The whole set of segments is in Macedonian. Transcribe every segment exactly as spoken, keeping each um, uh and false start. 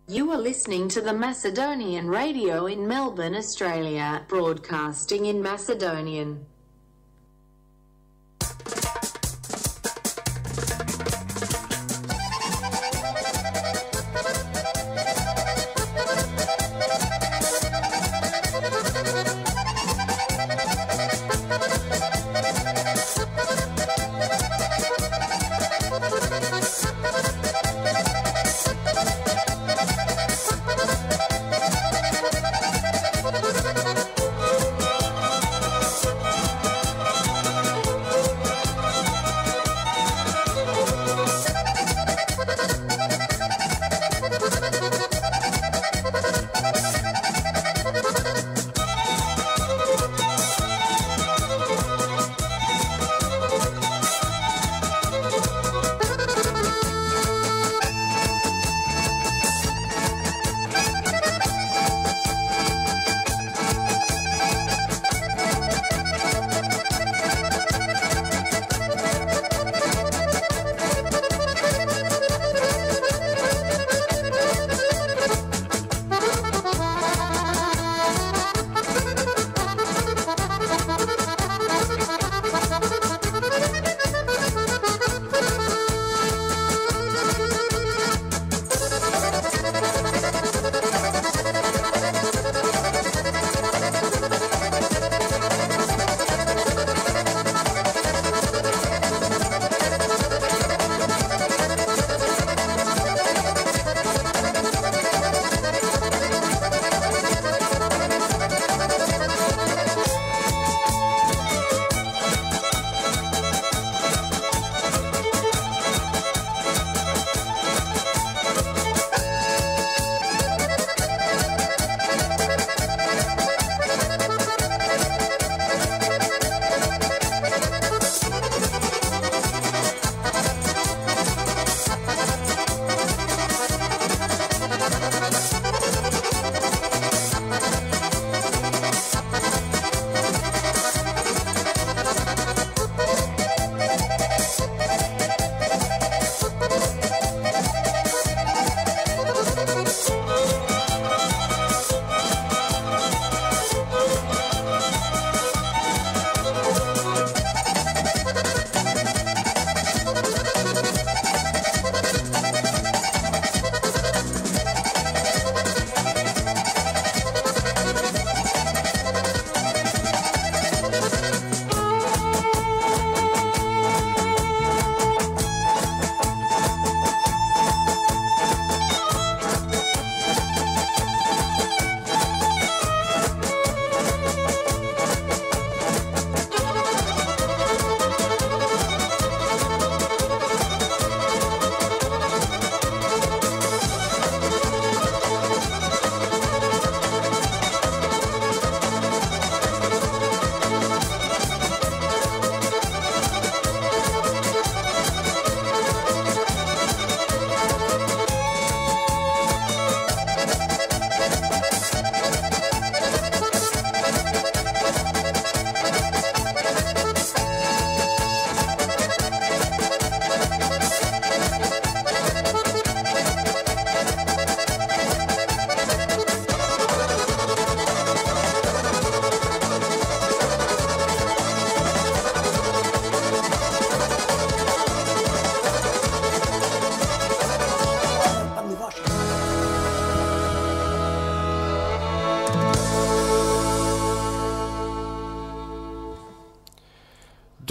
You are listening to the Macedonian Radio in Melbourne, Australia, broadcasting in Macedonian.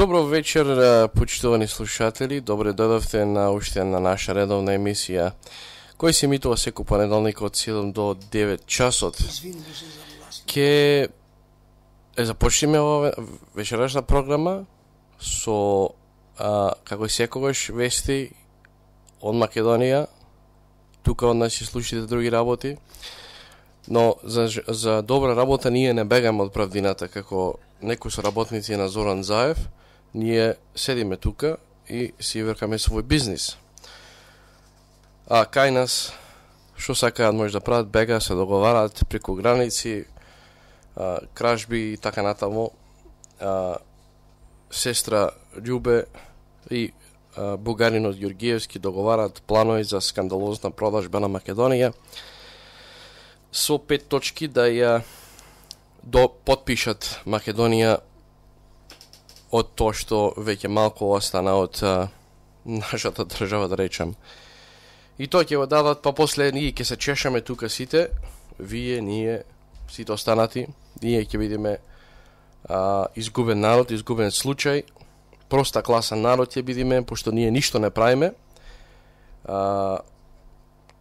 Добро вечер, почитувани слушатели. Добре дојдовте на уште на наша редовна емисија, кој се емитува секој понеделник од седум до девет часот. Ке е започнеме ова вечерашна програма со, а, како и секогаш, вести од Македонија. Тука од нас ќе слушате други работи, но за, за добра работа ние не бегаме од правдината, како некои со работници на Зоран Заев. Ние седиме тука и си вркаме свој бизнис. А кај нас, што сакаат може да прават, бега, се договараат преку граници, а, кражби и така натаму. А, сестра Љубе и бугаринот Ѓоргиевски договараат планови за скандалозна продажба на Македонија со пет точки да ја до потпишат Македонија од тоа што веќе малку остана од а, нашата држава, да речам. И тоа ќе го дадат, па после ние ќе се чешаме тука сите, вие, ние, сите останати, ние ќе бидеме а, изгубен народ, изгубен случај, проста класа народ ќе бидеме, пошто ние ништо не правиме. А,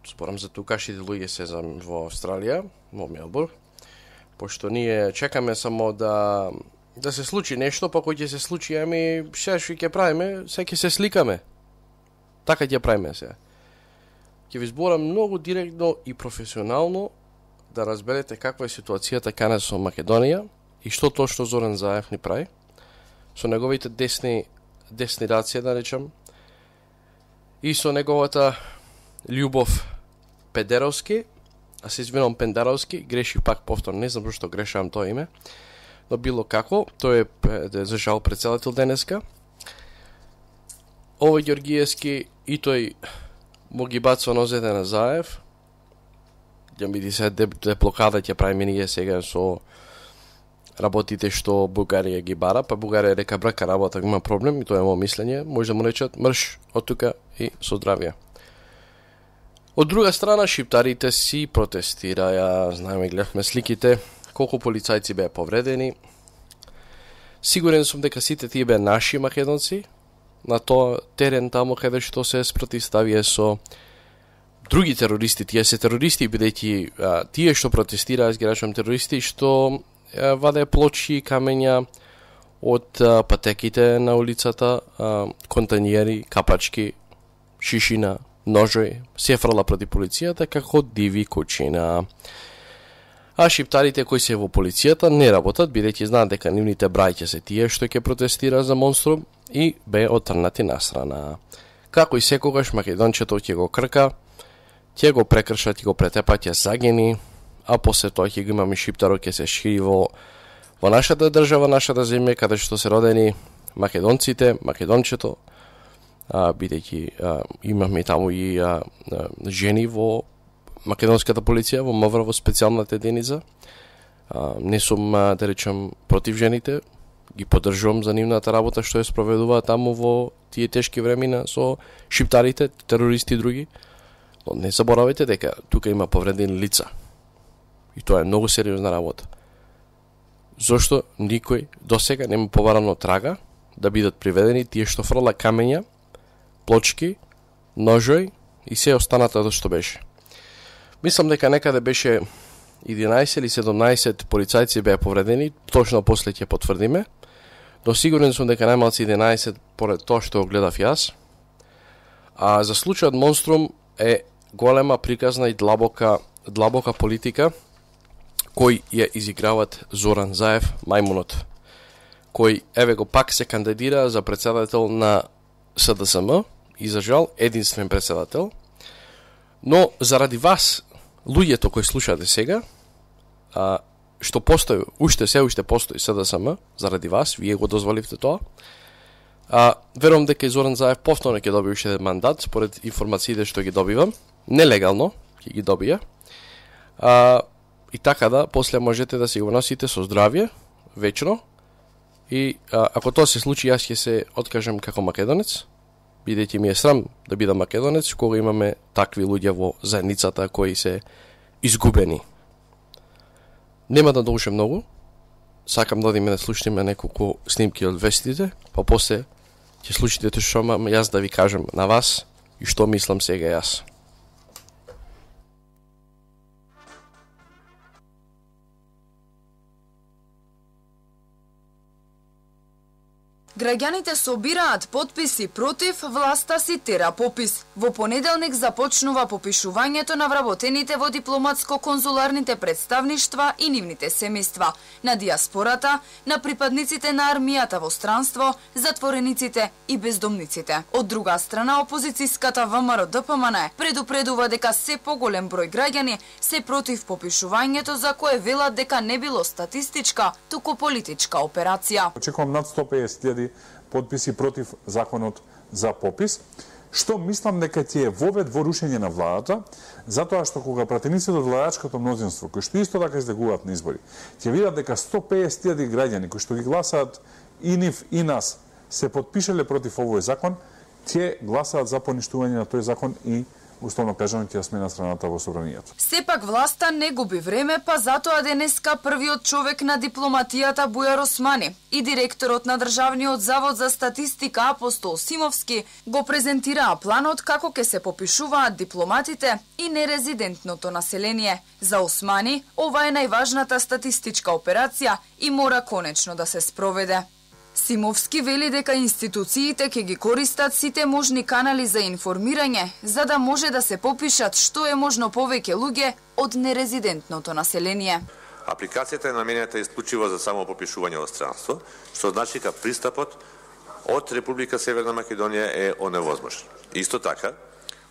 спорам за тукашите луѓе се за во Австралија, во Мелбурн, пошто ние чекаме само да да се случи нешто, па кој ќе се случи, ами се што ќе правиме, се ќе се сликаме. Така ќе правиме се. Ќе ви зборам многу директно и професионално да разберете каква е ситуацијата каде со Македонија и што точно Зоран Заев ни прави со неговите десни десни раци, да речам, и со неговата љубов Педеровски, а се извинувам Пендаровски, греших пак повторно, не знам зашто грешавам тоа име, но било како, тој е за жал председател денеска. Овој Ѓоргиевски и тој му ги бацува нозете на Заев. Ја ми се деблокада ќе правиме ние сега со работите што Бугарија ги бара, па Бугарија река брака работа, има проблем и тоа е моје мислење, може да му речат мрш од тука и со здравје. Од друга страна, шиптарите си протестираја, знаеме, гледавме сликите, колку полицајци беа повредени. Сигурен сум дека сите тие беа наши македонци, на тоа терен таму каде што се спротивставија со други терористи, тие се терористи, бидејќи тие што протестираа, ги речам терористи, што а, ваде плочи и камења од а, патеките на улицата, а, контаниери, капачки, шишина, ножој, се фрла проти полицијата како диви кучина. А шиптарите кои се во полицијата не работат, бидејќи знаат дека нивните браќа се тие што ќе протестира за монструм и бе отрнати насрана. Како и секогаш македончето ќе го крка, ќе го прекршат, ќе го претепат, ќе загини, а после тоа ќе го имаме шиптаро, ќе се шири во, во нашата држава, нашата земја, каде што се родени македонците, македончето, а, бидејќи а, имаме таму и а, а, жени во македонската полиција, во МВР, во специјалната единица. А, не сум, а, да речам, против жените, ги поддржувам за нивната работа што ја спроведува таму во тие тешки времена со шиптарите, терористи и други. Но не заборавајте дека тука има повредени лица. И тоа е многу сериозна работа. Зошто никој досега нема побарано трага да бидат приведени тие што фрла камења, плочки, ножој и се останатото што беше. Мислам дека некаде беше единаесет или седумнаесет полицајци беа повредени, точно после ќе потврдиме, но сигурен сум дека најмалку единаесет поред тоа што го гледав јас. А за случајот Монструм е голема, приказна и длабока, длабока политика кој ја изиграват Зоран Заев, мајмунот, кој еве го пак се кандидира за председател на СДСМ и за жал единствен председател. Но заради вас, луѓето кои слушате сега, а, што постои, уште се уште постои СДСМ, заради вас, вие го дозволивте тоа, а, верувам дека Зоран Заев повторно ќе доби уште мандат, според информациите што ги добивам, нелегално ќе ги добија, а, и така да, после можете да си го носите со здравје, вечно, и а, ако тоа се случи, јас ќе се откажам како македонец, бидејќи ми е срам да бидам македонец, кога имаме такви луѓе во заедницата кои се изгубени. Нема да душам многу, сакам да одиме да слушнеме неколку снимки од вестите, па после ќе слушате што имам јас да ви кажам на вас и што мислам сега јас. Граѓаните собираат потписи против власта, си тера попис. Во понеделник започнува попишувањето на вработените во дипломатско-конзуларните представништва и нивните семејства, на диаспората, на припадниците на армијата во странство, затворениците и бездомниците. Од друга страна, опозицијската ВМРО Д П М Н предупредува дека се поголем број граѓани се против попишувањето, за кое велат дека не било статистичка, туку политичка операција. Очекувам над сто и песет илјади потписи против законот за попис, што мислам дека ќе е вовед во рушење на владата, затоа што кога пратениците од владачкото мнозинство, кои што исто така излегуваат на избори, ќе видат дека сто и песет илјади граѓани кои што ги гласаат и нив и нас се потпишале против овој закон, ќе гласаат за поништување на тој закон и условно кажано ќе сме на страната во собранието. Сепак власта не губи време, па затоа денеска првиот човек на дипломатијата Бујар Османи и директорот на Државниот завод за статистика Апостол Симовски го презентираа планот како ќе се попишуваат дипломатите и нерезидентното население. За Османи ова е најважната статистичка операција и мора конечно да се спроведе. Симовски вели дека институциите ќе ги користат сите можни канали за информирање, за да може да се попишат што е можно повеќе луѓе од нерезидентното население. Апликацијата е наменета исклучиво за само попишување во странство, што значи дека пристапот од Република Северна Македонија е оневозможен. Исто така,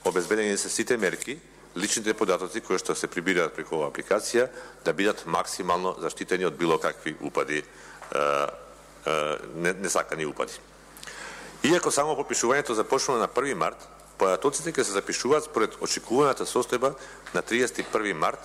обезбедени се сите мерки, личните податоци кои што се прибираат преку оваа апликација да бидат максимално заштитени од било какви упади, несакани упади. Иако само попишувањето започнува на први март, податоците ќе се запишуваат според очекуваната состојба на триесет и први март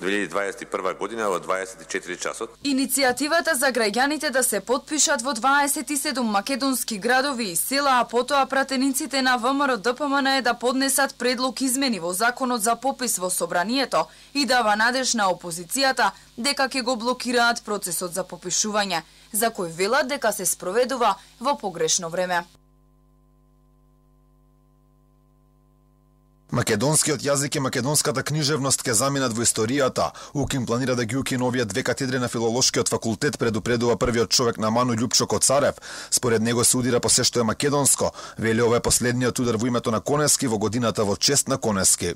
две илјади дваесет и прва година во дваесет и четири часот. Иницијативата за граѓаните да се потпишат во дваесет и седум македонски градови и села, а потоа пратениците на ВМРО Д П М Н е да поднесат предлог измени во законот за попис во собранието и дава надеж на опозицијата дека ќе го блокираат процесот за попишување, за кој велат дека се спроведува во погрешно време. Македонскиот јазик и македонската книжевност ќе заминат во историјата. УКИМ планира да ги укине овие две катедри на Филолошкиот факултет, предупредува првиот човек на Ману Љупчо Коцарев. Според него се удира по се што е македонско. Вели ова е последниот удар во името на Конески во годината во чест на Конески.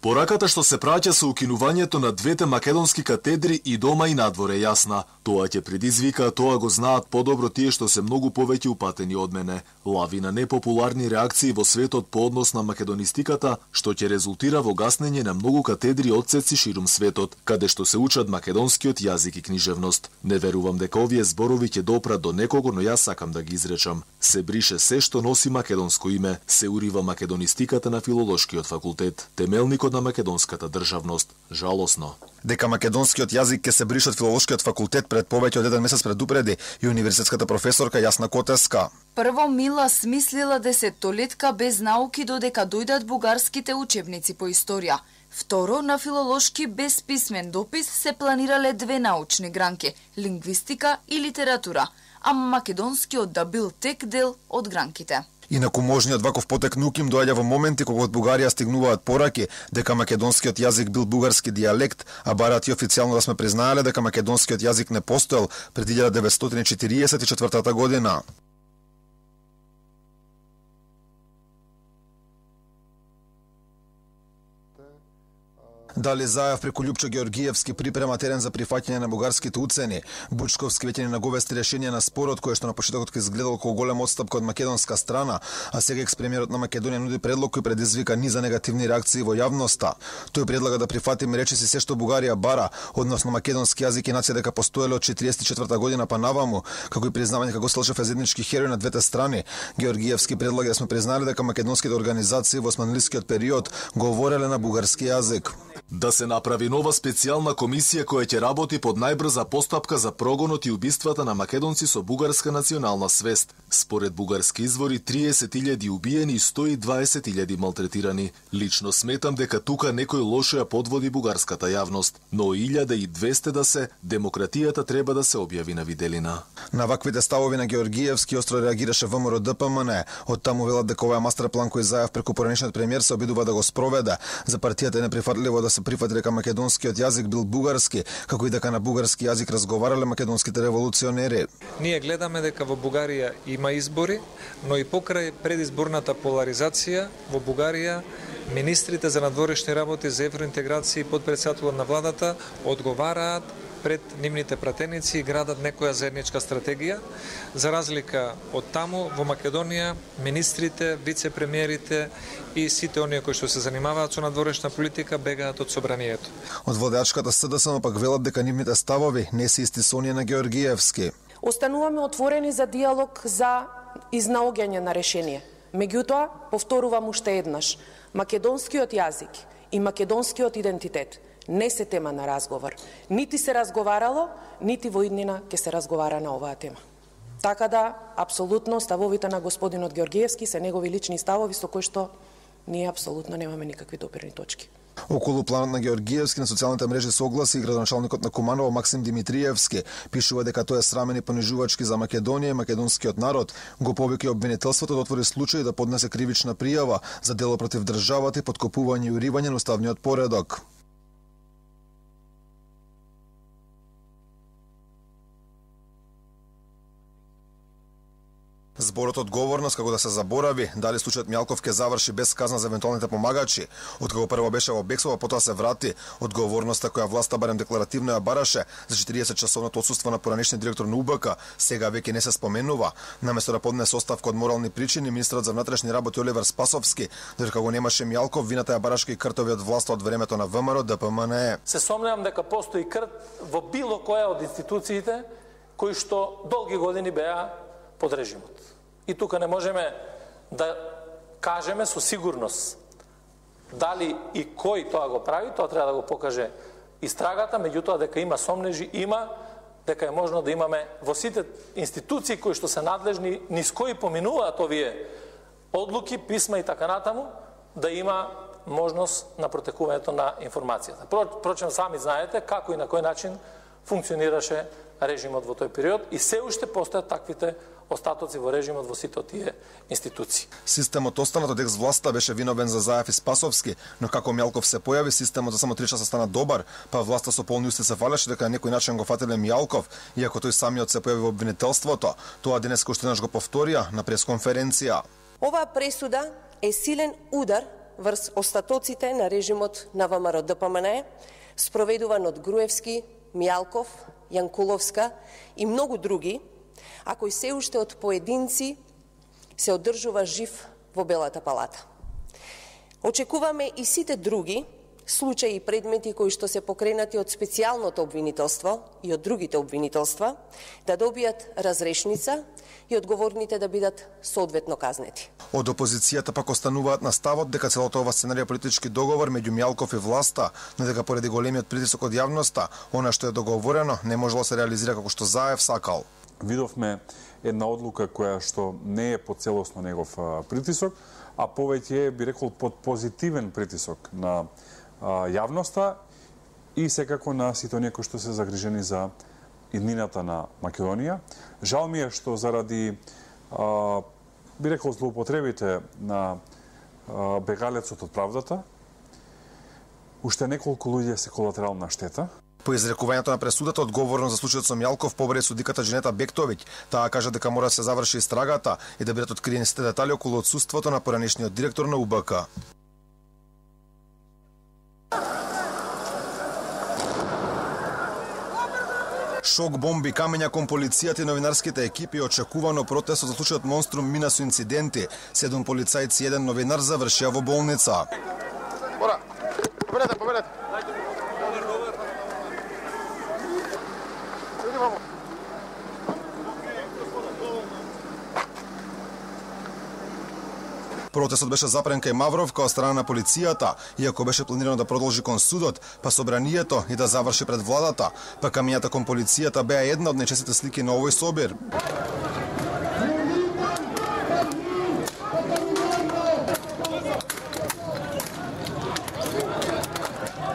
Пораката што се праќа со укинувањето на двете македонски катедри и дома и надвор е јасна. Тоа ќе предизвика, тоа го знаат подобро тие што се многу повеќе упатени од мене. Лавина непопуларни реакции во светот по однос на македонистиката, што ќе резултира во гаснење на многу катедри одсеци ширум светот, каде што се учат македонскиот јазик и книжевност. Не верувам дека овие зборови ќе допрат до некого, но јас сакам да ги изречам. Се брише се што носи македонско име, се урива македонистиката на Филолошкиот факултет, темелникот на македонската државност. Жалосно. Дека македонскиот јазик ќе се брише од Филолошкиот факултет пред повеќе од еден месец предупреди и универзитетската професорка Јасна Котеска. Прво Мила смислила десеттолетка без науки додека дојдат бугарските учебници по историја. Второ, на филолошки без писмен допис се планирале две научни гранки – лингвистика и литература, а македонскиот да бил тек дел од гранките. Инаку можниот ваков потек на УКИМ доаѓа во моменти кога од Бугарија стигнуваат пораки дека македонскиот јазик бил бугарски дијалект, а барат и официјално да сме признаеле дека македонскиот јазик не постоел пред илјада деветстотини и четириесет и четвртата година. Дали Заев преку Љупчо Георгиевски припрема терен за прифаќање на бугарските уцени. Бучковски веќе ни наговести решение на спорот кој што на почетокот ќе изгледал како голем отстапка од македонска страна, а сега екс-премиерот на Македонија нуди предлог кој предизвика низа негативни реакции во јавноста. Тој предлага да прифатиме речиси се што Бугарија бара, односно македонски јазик и нација дека постоеле од четириесет и четврта година па наваму, како и признавање како Слчев е заеднички херој на двете страни. Георгиевски предлага да сме признали дека македонските организации во османлискиот период говореле на бугарски јазик. Да се направи нова специјална комисија која ќе работи под најбрза постапка за прогонот и убиствата на македонци со бугарска национална свест. Според бугарски извори, триесет илјади убиени и сто и дваесет илјади малтретирани. Лично сметам дека тука некој лошо ја подводи бугарската јавност, но илјада и двесте да се, демократијата треба да се објави на виделина. На ваквите ставови на Георгиевски остро реагираше ВМРО Д П М Н. Од таму велат дека овој мастер план кој Заев преку поранешниот премиер се обидува да го спроведе. За партијата е неприфатливо да се прифати дека македонскиот јазик бил бугарски, како и дека на бугарски јазик разговарале македонските револуционери. Ние гледаме дека во Бугарија има избори, но и покрај предизборната поларизација во Бугарија министрите за надворешни работи, за евроинтеграција и подпредседателот на владата одговараат пред нивните пратеници и градат некоја заедничка стратегија. За разлика од таму, во Македонија, министрите, вице-премиерите и сите оние кои што се занимаваат со надворешна политика бегаат од собранието. Од водачката С Д С пак велат дека нивните ставови не се исти со оние на Георгиевски. Остануваме отворени за диалог за изнаоѓање на решение. Меѓутоа, повторувам уште еднаш, македонскиот јазик и македонскиот идентитет не се тема на разговор. Нити се разговарало, нити во иднина ќе се разговара на оваа тема. Така да, апсолутно, ставовите на господинот Георгиевски се негови лични ставови со кои што ние апсолутно немаме никакви допирни точки. Околу планот на Георгиевски на социјалните мрежи се огласи и градоначалникот на Куманово Максим Димитриевски. Пишува дека тој е срамен и понижувачки за Македонија и македонскиот народ. Го повика обвинителството да отвори случај да поднесе кривична пријава за дело против државата и поткопување и уривање на уставниот поредок. Зборот одговорност како да се заборави дали случајот Мјалков ќе заврши без казна за евентуалните помагачи. Откако прво беше во бегство, потоа се врати. Одговорноста која власта барем декларативно ја бараше за четириесет часовното отсуство на поранешниот директор на У Б К, сега веќе не се споменува. Наместо да поднесе оставка од морални причини, министерот за внатрешни работи Оливер Спасовски, додека го немаше Мјалков, вината ја барашка и кртови од власта од времето на Вэ М Р Д П М Н Е. Се сомневам дека постои крт во било која од институциите кои што долги години беа под режимот. И тука не можеме да кажеме со сигурност дали и кој тоа го прави, тоа треба да го покаже истрагата, меѓутоа дека има сомнежи, има, дека е можно да имаме во сите институции кои што се надлежни, низ кои поминуваат овие одлуки, писма и така натаму, да има можност на протекувањето на информацијата. Впрочем, сами знаете како и на кој начин функционираше режимот во тој период и се уште постојат таквите остатоци во режимот во сите тие институции. Системот останат од екс-власта беше виновен за Заев и Спасовски, но како Мјалков се појави, системот за само три часа стана добар, па власта со полни усти се фалеше дека на некој начин го фателе Мјалков, иако тој самиот се појави во обвинителството. Тоа денес уште еднаш го повторија на пресконференција. Оваа пресуда е силен удар врз остатоците на режимот на Вэ М Р Д П М Н Е, спроведуван од Груевски, Мјалков, Јанкуловска и многу други, а кој се уште од поединци се одржува жив во Белата палата. Очекуваме и сите други случаи и предмети кои што се покренати од специјалното обвинителство и од другите обвинителства да добијат разрешница и одговорните да бидат соодветно казнети. Од опозицијата пак остануваат на ставот дека целото ова сценарија политички договор меѓу Мјалков и власта, но дека поради големиот притисок од јавноста, она што е договорено не можело да се реализира како што Заев сакал. Видовме една одлука која што не е под целосно негов притисок, а повеќе е, би рекол, под позитивен притисок на а, јавноста и секако на сите оние кои што се загрижени за иднината на Македонија. Жал ми е што заради, а, би рекол, злоупотребите на а, бегалецот од правдата, уште неколку луѓе се колатерална штета. По изрекувањето на пресудата, одговорно за случајот со Мјалков побари судиката Дженета Бектовиќ. Таа кажа дека мора да се заврши истрагата и да бидат откриени сите детали околу отсуството на поранешниот директор на У Б К. Шок, бомби, камења кон полицијата и новинарските екипи, очекувано протест за случајот Монструм мина со инциденти. Седум полицајци и еден новинар завршија во болница. Бора, победете, победете. Протестот беше запрен кај Мавровка од страна на полицијата, иако беше планирано да продолжи кон судот, па собранието и да заврши пред владата. Па камењата кон полицијата беа една од најчестите слики на овој собир.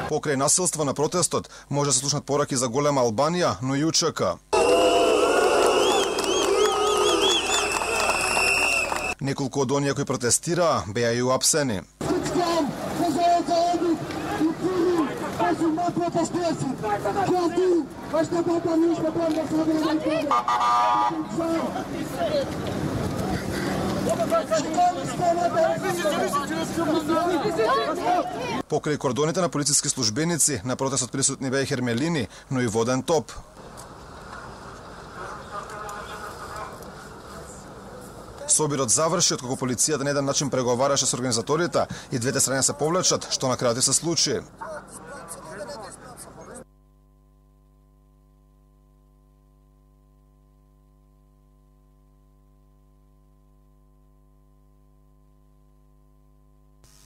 Покрај насилство на протестот може да се слушнат пораки за голема Албанија, но и У Ч К. Неколку од оние кои протестираа беа и уапсени. Покрај кордоните на полициски службеници, на протестот присутни беа и хермелини, но и воден топ. Собирот заврши откако полицијата на еден начин преговараше со организаторите и двете страни се повлечат, што на крајот се случи.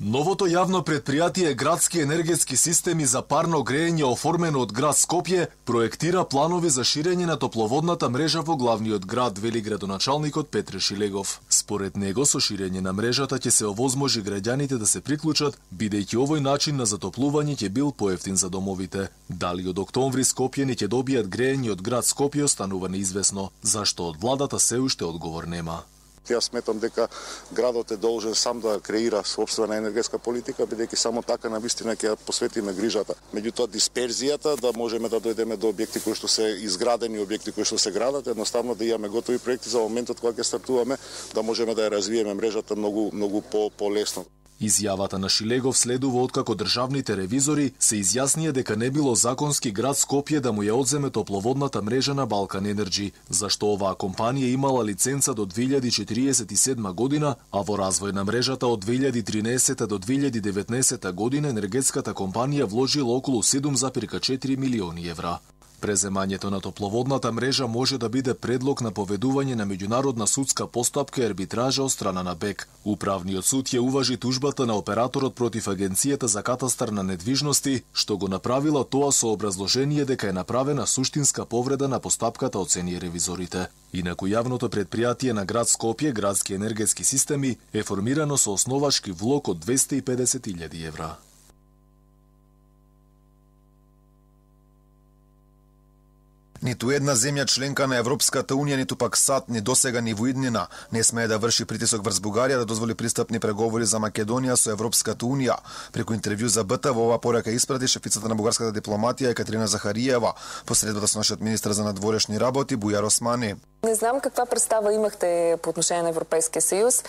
Новото јавно предпријатие Градски енергетски системи за парно грејење, оформено од град Скопје, проектира планови за ширење на топловодната мрежа во главниот град, вели градоначалникот Петре Шилегов. Според него, со ширење на мрежата ќе се овозможи граѓаните да се приклучат, бидејќи овој начин на затоплување ќе бил поевтин за домовите. Дали од октомври Скопјани ќе добијат грејење од град Скопје останува неизвестно, зашто од владата се уште одговор нема. Јас сметам дека градот е должен сам да креира собствена енергетска политика, бидејќи само така навистина ќе ја посветиме грижата. Меѓутоа дисперзијата, да можеме да дојдеме до објекти кои што се изградени, објекти кои што се градат, едноставно да имаме готови проекти за моментот кога ќе стартуваме, да можеме да ја развиеме мрежата многу многу по полесно. Изјавата на Шилегов следува откако државните ревизори се изјаснија дека не било законски град Скопје да му ја одземе топловодната мрежа на Балкан Енерджи, зашто оваа компанија имала лиценца до две илјади четириесет и седма година, а во развој на мрежата од две илјади тринаесета до две илјади деветнаесета година енергетската компанија вложила околу седум зарез четири милиони евра. Преземањето на топловодната мрежа може да биде предлог на поведување на меѓународна судска постапка и арбитража од страна на БЕК. Управниот суд ја уважи тужбата на операторот против Агенцијата за катастар на недвижности, што го направила тоа со образложение дека е направена суштинска повреда на постапката, оцени ревизорите. Инаку јавното предпријатие на град Скопје, Градски енергетски системи, е формирано со основачки влог од двесте и педесет илјади евра. Ниту една земја членка на Европската Унија, ниту пак САД, ни досега ни во иднина не смее да врши притисок врз Бугарија да дозволи пристапни преговори за Македонија со Европската Унија. Преку интервју за БТ во оваа порака испрати шефицата на бугарската дипломатија Екатерина Захариева, посредбата со нашиот министар за надворешни работи Бујар Османи. Не знам каква представа имахте по отношение на Европейския съюз,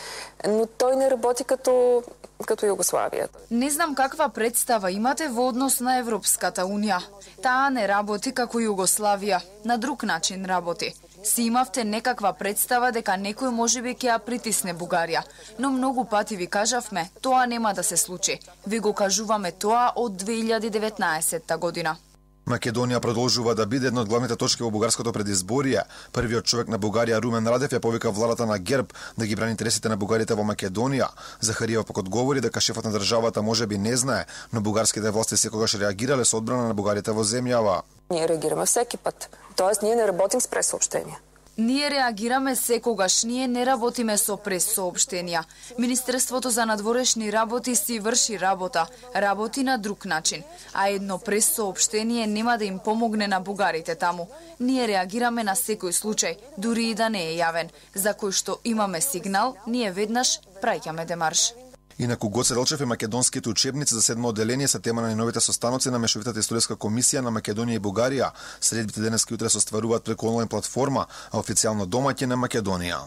но той не работи като като Југославија. Не знам каква представа имате во однос на Европската Унија. Таа не работи како Југославија, на друг начин работи. Си имавте некаква представа дека некој можеби ќе ја притисне Бугарија, но многу пати ви кажавме, тоа нема да се случи. Ви го кажуваме тоа од две илјади деветнаесетта година. Македонија продолжува да биде една од главните точки во бугарското предизборие. Првиот човек на Бугарија, Румен Радев, ја повика владата на ГЕРБ да ги брани интересите на бугарите во Македонија. Захариева пак одговори дека шефот на државата можеби не знае, но бугарските власти секогаш реагирале со одбрана на бугарите во земјава. Ние реагираме всеки пат. Тоест, ние не работим с пресообщенија. Ние реагираме секогаш, ние не работиме со пресообштенија. Министерството за надворешни работи си врши работа, работи на друг начин, а едно пресообштение нема да им помогне на бугарите таму. Ние реагираме на секој случај, дури и да не е јавен, за кој што имаме сигнал, ние веднаш праќаме демарш. Инаку Гоце Делчев и македонските учебници за седмо одделение се тема на најновите состаноци на Мешовитата историска комисија на Македонија и Бугарија. Средбите денес и утре се остваруваат преку онлайн платформа, а официјално домаќин на Македонија.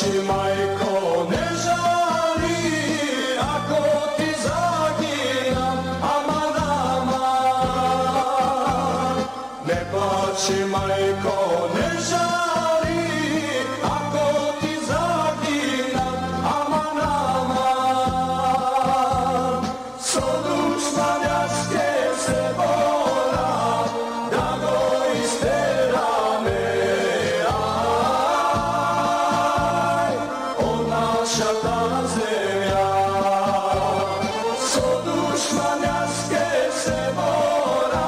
Majko, ne žali, ako ti zaginam, aman, aman. Ne plači, majko, ne žali, ako ti zaginam, aman, aman. So dušmanjaske se bora, da go isterame. Mora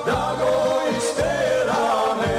da go isterame.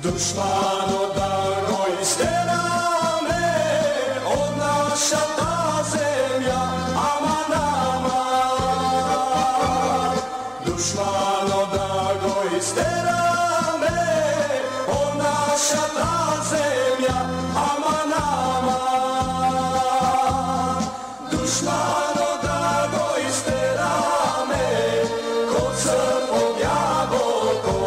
Душмано да го истераме од нашата земја, ама нама. Душмано да го истераме од нашата земја, ама нама. Душмано да го истераме код црп од јагото.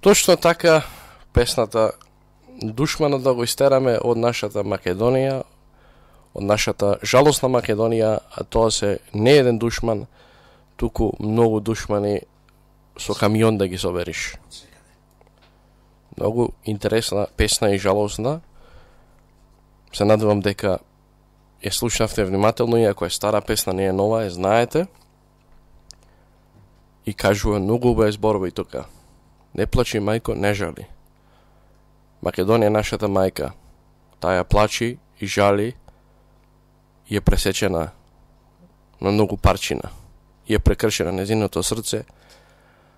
Точно така, песната Душмано да го истераме од нашата Македонија, од нашата жалосна Македонија, а тоа се не еден душман, туку многу душмани со камион да ги собериш. Многу интересна песна и жалосна. Се надевам дека ја слушнавте внимателно, иако е стара песна, не е нова, е знаете. И кажува многу убави зборови тука. Не плачи, мајко, не жали. Македонија е нашата мајка. Таа плачи и жали и е пресечена на многу парчина. И е прекршена незиното срце,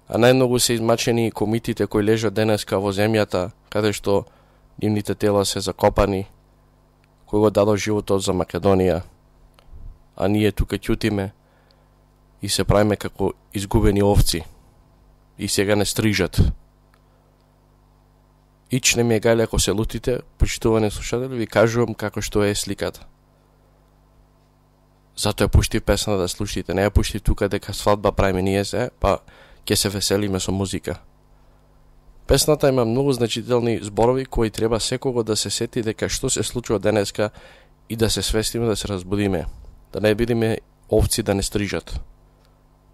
а најмногу се измачени комитите кои лежат денеска во земјата, каде што нивните тела се закопани, кои го дадо животот за Македонија, а ние тука ќутиме и се правиме како изгубени овци и сега не стрижат. Ич не ми е гајле ако се лутите, почитувани слушатели, ви кажувам како што е сликата. Зато ја пуштив песна да слушате, не ја пуштив тука дека свадба правиме ние се, па ќе се веселиме со музика. Песната има многу значителни зборови кои треба секого да се сети дека што се случува денеска и да се свестиме, да се разбудиме. Да не бидиме овци да не стрижат.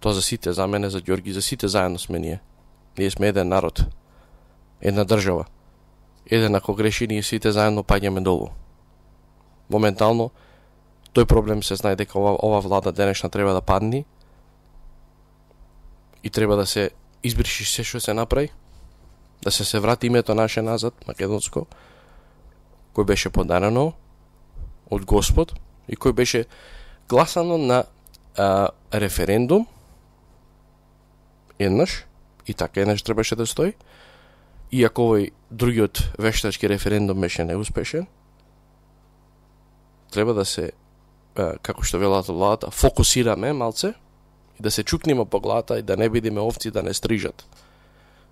Тоа за сите, за мене, за Ѓорги, за сите заедно сме ние. Ние сме еден народ, една држава. Еден ако греши, ние сите заедно паѓаме долу. Моментално, тој проблем се знае дека ова, ова влада денешна треба да падни и треба да се избриши се што се направи, да се се врати името наше назад, македонско, кој беше подарено од Господ и кој беше гласано на а, референдум еднаш, и така еднаш требаше да стои, иако овој другиот вештачки референдум беше неуспешен, треба да се, а, како што велат владата, фокусираме малце и да се чукнеме по главата и да не бидиме овци да не стрижат.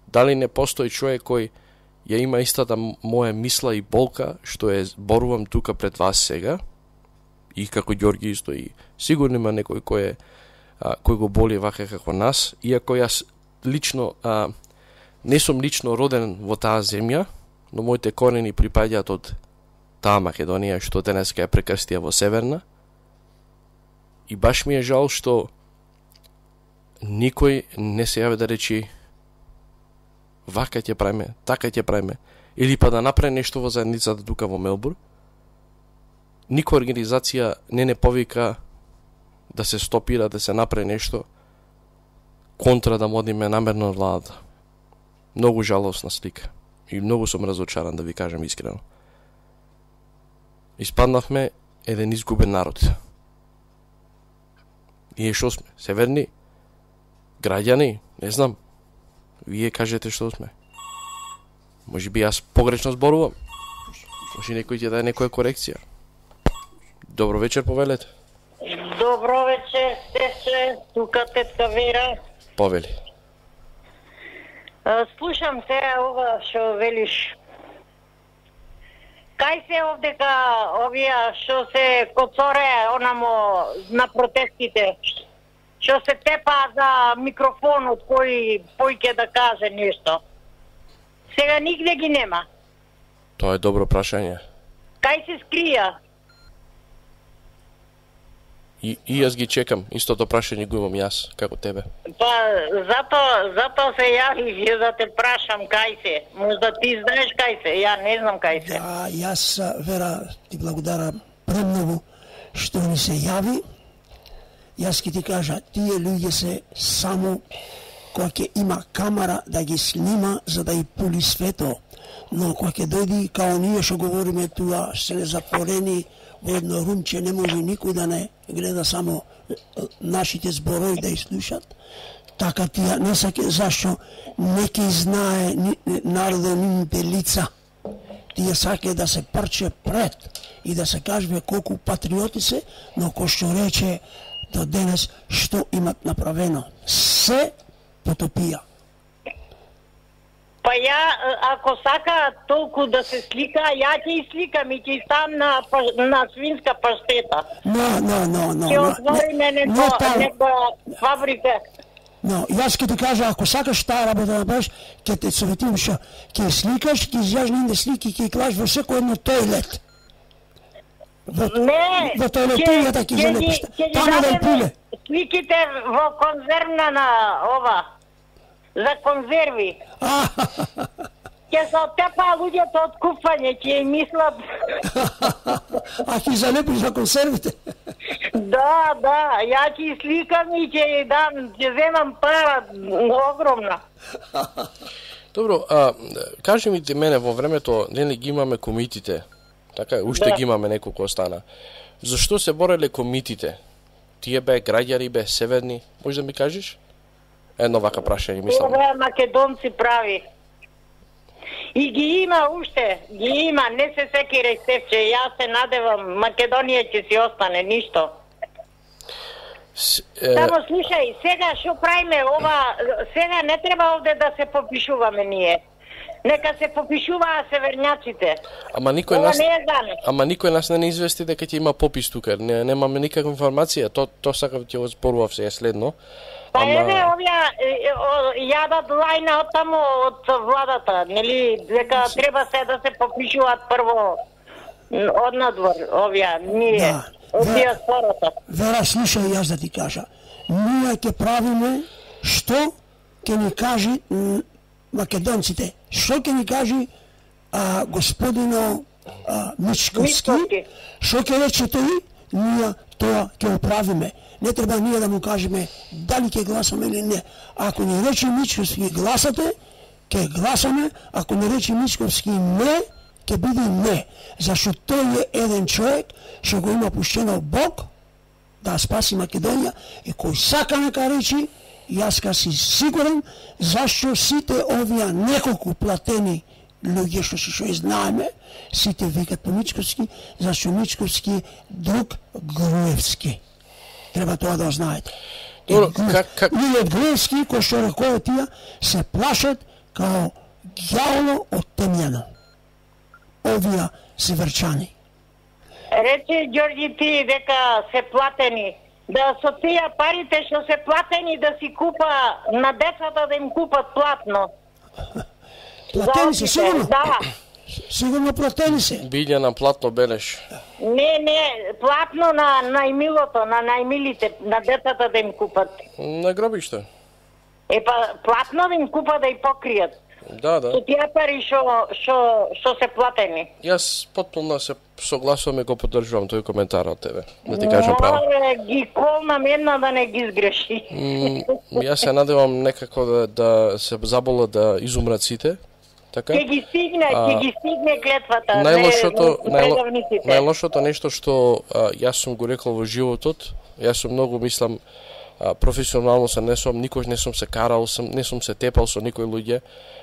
Дали не постои човек кој ја има истата моја мисла и болка што е зборувам тука пред вас сега, и како Ѓорги исто, и сигурно има некој кој е а, кој го боли вака како нас, иако јас лично а, не сум лично роден во таа земја, но моите корени припаѓаат од таа Македонија што денеска е прекрстија во Северна. И баш ми е жал што никој не се јави да речи вака ќе правиме, така ќе правиме, или па да направи нешто во заедницата тука во Мелбурн. Никоја организација не не повика да се стопира, да се направи нешто контра да модиме намерно владата. Многу жалосна слика. И многу сум разочаран, да ви кажам искрено. Испаднавме еден изгубен народ. Ние што сме? Северни? Граѓани? Не знам. Вие кажете што сме. Може би јас погрешно зборувам. Може некој ќе даде некоја корекција. Добро вечер, повелете. Добро вечер, сестре, тука тетка Вера. Повели. Слушам се ова што велиш. Кај се овдека овие што се коцоре онамо на протестите? Што се тепа за микрофонот кој појке да каже нешто? Сега нигде ги нема. Тоа е добро прашање. Кај се скрија? И, и јас ги чекам, истото прашање го имам јас, како тебе. Па, зато, зато се јавив, ја да те прашам кај се. Можда ти знаеш кај се, ја не знам кај се. Да, јас, Вера, ти благодарам премногу што ни се јави. Јас ќе ти кажа, тие луѓе се само која ќе има камера да ги снима за да и пули свето. Но која ќе дојди, као ние што говориме туа, се не затворени во едно румче, не може никој да не гледа само нашите зборови да изслушат. Така тие не саке, зашто не ќе знае народот нивните лица. Тие саке да се прче пред и да се кажува колку патриоти се, но кој што рече до денес што имат направено. Се потопија. Па ја, ако сака толку да се слика, ја ќе и сликам и ќе ставам на, на свинска паштета. Но, но, но, но. Ќе отвориме некоја фабрика. Но, јас ќе ти кажа, ако сакаш таа работа да направиш, ќе те советувам што ќе сликаш, ќе изјаш нивните слики, ќе клаш во секој едно тойлет. Во, не, во тойлетијата ќе залепиш. Тама да пуле. Сликите во конзервна на ова. За конзерви. Ќе се оттепа луѓето од купање, ќе им мислат. А ќе залепиш за консервите? Да, да, ја ќе сликам и ќе дам, ќе земам пара огромна. Добро, а кажи ми ти мене, во времето нели ги имаме комитите? Така е, уште да. Ги имаме неколку остана. Зашто се бореле комитите? Тие бе граѓани, бе северни, може да ми кажеш? Едно вака прашање, мислам. Ова македонци прави. И ги има уште, ги има, не се секире Стефче, јас се надевам, Македонија ќе си остане, ништо. С, е... Само слушај, сега што правиме ова, сега не треба овде да се попишуваме ние. Нека се попишуваат северњаците. Ама никој ова нас не е за нас. Ама никој нас не извести дека ќе има попис тука. Не немаме никаква информација. То то сакав ќе го зборував сега следно. Па Ама... еве овие јадат лајна од таму од владата, нели, дека треба се да се попишуваат прво од надвор, овие, ние, да, од диаспората. Вера, слушај, јас да ти кажа. Ние ќе правиме што ќе ни кажи македонците. Што ќе ни кажи а, господино а, Мичковски, што ќе рече тој, ние тоа ќе оправиме. Не треба ние да му кажеме дали ќе гласаме или не. Ако ни рече Мичковски гласате, ќе гласаме, ако не рече Мичковски не, ќе биде не. Зашто тој е еден човек што го има пуштено Бог да спаси Македонија и кој сака нека речи, јас ка си сигурен зашто сите овие неколку платени луѓе што се што знаеме, сите викат по Мичковски, зашто Мичковски друг Груевски. Треба тоа да знаете. Добро, как как Ние од Груевски кои што рекоа тие се плашат као ѓаволо од темјано. Овие северчани. Рече Ѓорѓи ти дека се платени. Да со тие парите што се платени да си купа на децата да им купат платно. Платени се, сигурно? Да. Сигурно платени се. Билја на платно белеш. Не, не, платно на најмилото, на најмилите, на децата да им купат. На гробиште. Е па платно да им купа да и покријат. Да, да. Со тие пари што што што се платени. Јас потполно се согласувам и го поддржувам тој коментар од тебе. Да ти кажам право. Море ги колнам една да не ги сгреши. М, јас се надевам некако да, да се забола да изумрат сите. Така? Ќе ги стигне, ќе ги стигне клетвата. Најлошото, не, најло, не најлошото нешто што а, јас сум го рекол во животот, јас сум многу мислам а, професионално се не сум, никош не сум се карал, сум, не сум се тепал со никој луѓе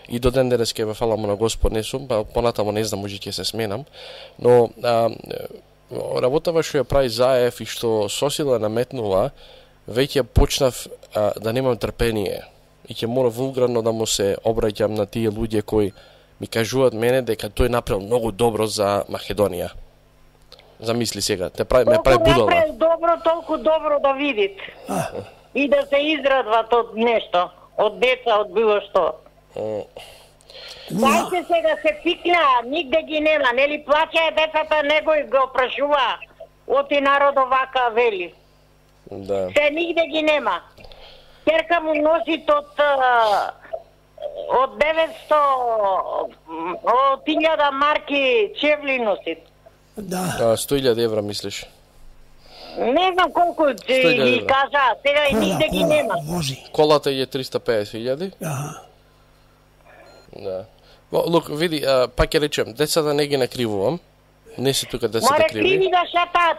и до ден денес ке ве фала му на Господ не сум, па понатамо не знам, може ќе се сменам, но а, работава што ја прави Заев и што Сосила наметнува, веќе почнав а, да немам трпение и ќе мора вулгарно да му се обраќам на тие луѓе кои ми кажуваат мене дека тој направил многу добро за Македонија. Замисли сега, те прави, ме прави будала. Толку направи добро, толку добро да видит. И да се израдват од нешто, од деца, од било што. Дајте сега се пикна, нигде ги нема, нели плаќаја децата, него и го прашува. Оти народо вака вели. Да. Се нигде ги нема. Керка му носит од од деветсто од илјада марки чевли носит. Да. сто илјади евра мислиш? Не знам колку ги кажа, сега и нигде ги нема. Колата е триста и педесет илјади? Да. Да. Лук, види, а, пак ќе речем, децата не ги накривувам. Не се тука децата Море криви. криви да шатат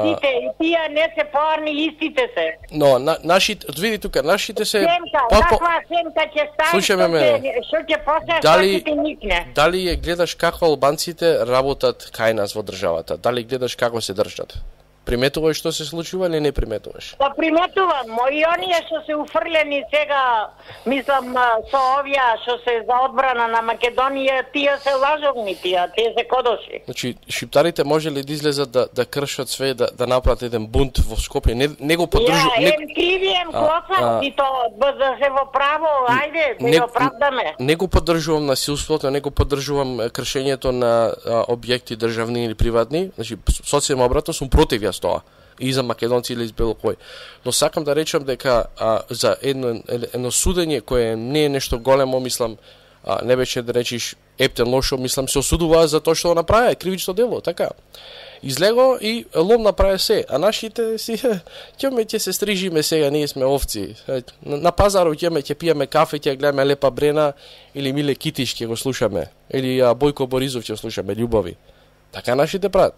сите, и тие не се поарни, истите се. Но на, нашите, види тука, нашите се Семка, по, по... каква семка ќе стави, Слушаме што ме. ќе што ќе после Дали- што ќе ти никне. Дали ја гледаш како албанците работат кај нас во државата? Дали гледаш како се држат? Приметуваш што се случува или не приметуваш? Па приметувам, мои оние што се уфрлени сега, мислам, со овие што се за одбрана на Македонија, тие се лажовни тие, тие се кодоши. Значи, шиптарите може ли да излезат да, да кршат све, да, да направат еден бунт во Скопје? Не, не го поддржу... Ја, не... ем криви, ем А, клоцам, а. и то да се во право, ајде, да не, ја оправдаме. не го поддржувам насилството, не го поддржувам е, кршењето на а, објекти државни или приватни. Значи, социјално обратно сум против јас тоа. И за македонци или за било кој. Но сакам да речам дека а, за едно, едно судење кое не е нешто големо, мислам, а, не беше да речиш ептен лошо, мислам, се осудува за тоа што го направи, кривично дело, така. Излего и лом направи се, а нашите си, ќеме ќе се стрижиме сега, ние сме овци. На, на пазарот ќеме ќе пиеме кафе, ќе гледаме Лепа Брена, или Миле Китиш ќе го слушаме, или а, Бојко Боризов ќе слушаме, љубови. Така нашите прават.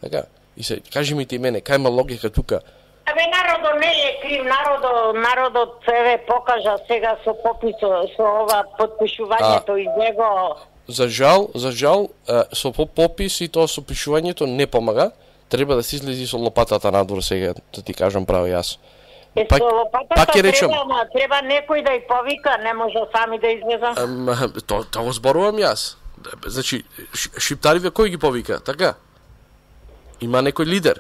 Така. И се, кажи ми ти мене, кај има логика тука? Абе, народот не е крив, народот, народот еве покажа сега со пописо, со ова подпишувањето и него. За жал, за жал, е, со попис и тоа со пишувањето не помага. Треба да се излези со лопатата надвор сега, да ти кажам право јас. Е, Пак- со лопатата пак ќе речем. треба, ама треба некој да ја повика, не може сами да излеза. Ам, то, тоа го зборувам јас. Значи, ш- шиптариве кој ги повика, така? Има некој лидер.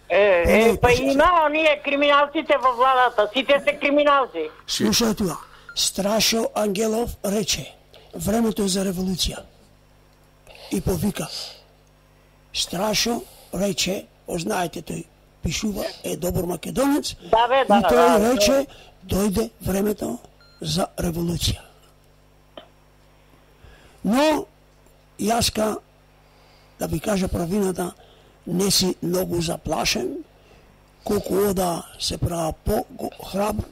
Е, е, па има оние криминалците во владата, сите се криминалци. Слушај тоа. Страшо Ангелов рече, времето е за револуција. И повика. Страшо рече, ознаете тој, пишува, е добар македонец. Да, бе, да, и тој да, рече, дојде времето за револуција. Но, јаска, да ви кажа правината, не си многу заплашен, колку ода се права по-храбр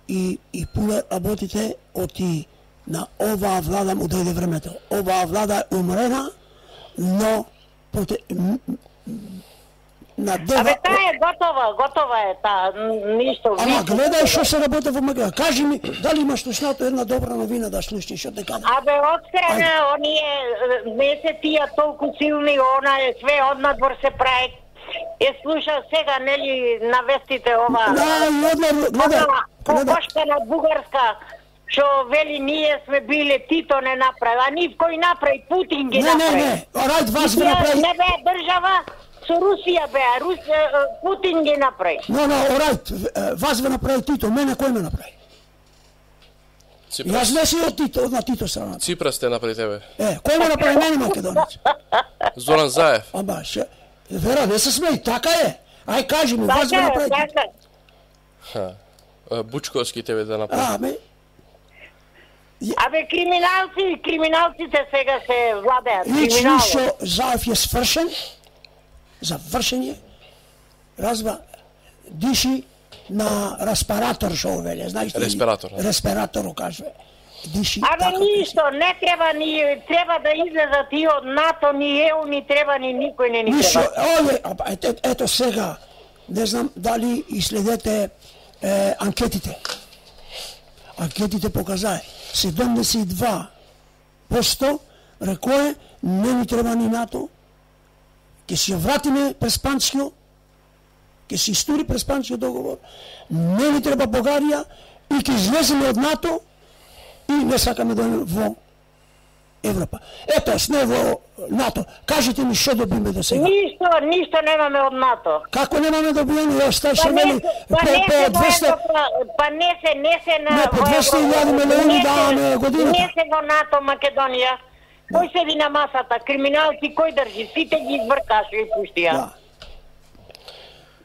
и, и пуле работите, оти на оваа влада му дојде времето. Оваа влада е умрена, но проте, м, м, на дева... Абе, таа е готова, готова е таа, ништо. Ама гледај што се работи во Македонија. Кажи ми, дали имаш слушнато една добра новина да слушнеш од дека? Абе, отстрана, оние, не се тие толку силни, она е све однадвор се прави. Е, слуша сега, нели, на вестите ова... Да, и однадвор, гледај, Побошка на Бугарска, што вели ние сме биле, Тито не направи, а нив кој направи, Путин ги Не, не, направи. не, рајд вас И ви тие направи. Не бе држава, со Русија беа, Рус, е, е, Путин ги направи. Но, но, рајд, вас ви направи Тито, мене кој ме направи? Јас не си од Тито, од на Тито страната. Ципрас те напри тебе. Е, кој ме направи мене македонец? Зоран Заев. Ама, ше, Вера, не се смеј, така е. Ај, кажи ми, вас ви Така е, направи Тито. така. Ха. Е, Бучковски тебе да направи. А, ме, Абе, криминалци, криминалците сега се владеат. Лично што Заев е свршен, завршен е, разбра, диши на респиратор, што веле, знаеш ли? Респиратор. Респиратор, кажува. Диши. Абе, така, ништо, не треба ни, треба да излезат и од НАТО, ни Е У, ни треба ни никој не ни Ништо, треба. ове, ето, ето сега, не знам дали изследете е, анкетите. Анкетите показае, седумдесет и два проценти рекое, не ни треба ни НАТО, ќе си ја вратиме през Панчкиот, ќе си истури през Панчкиот договор, не ни треба Бугарија и ќе излеземе од НАТО и не сакаме да во Европа. Ето, сме во НАТО. Кажете ми што добиме до сега. Ништо, ништо немаме од НАТО. Како немаме добиено? Ја оставаше Па мене не, по, па не по се двеста... во- па не се, не се на... Не, по двеста илјади милиони даваме годината. Не се во НАТО, Македонија. Кој седи на масата? Криминалци, кој држи? Сите ги извркаш и пуштија. Да.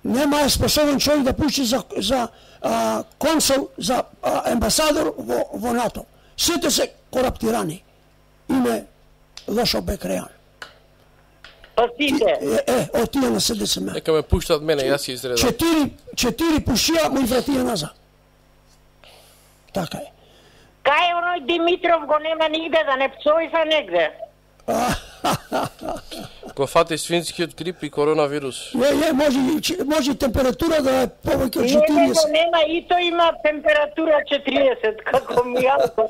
Нема е способен човек да пушти за, за а, консул, за а, амбасадор во, во НАТО. Сите се кораптирани. Име лошо бекрејан. Па сите? Е, е, од тие на СДСМ. Нека ме пуштат мене, јас ќе изредам. Четири, четири пушија му и вратија назад. Така е. Кај оној Димитров го нема нигде, да не псои са негде. Го фати свинскиот грип и коронавирус. Не, не, може, и- може и температура да е повеќе од Не, не го четириесет. нема, и тој има температура четириесет, како Мијалко.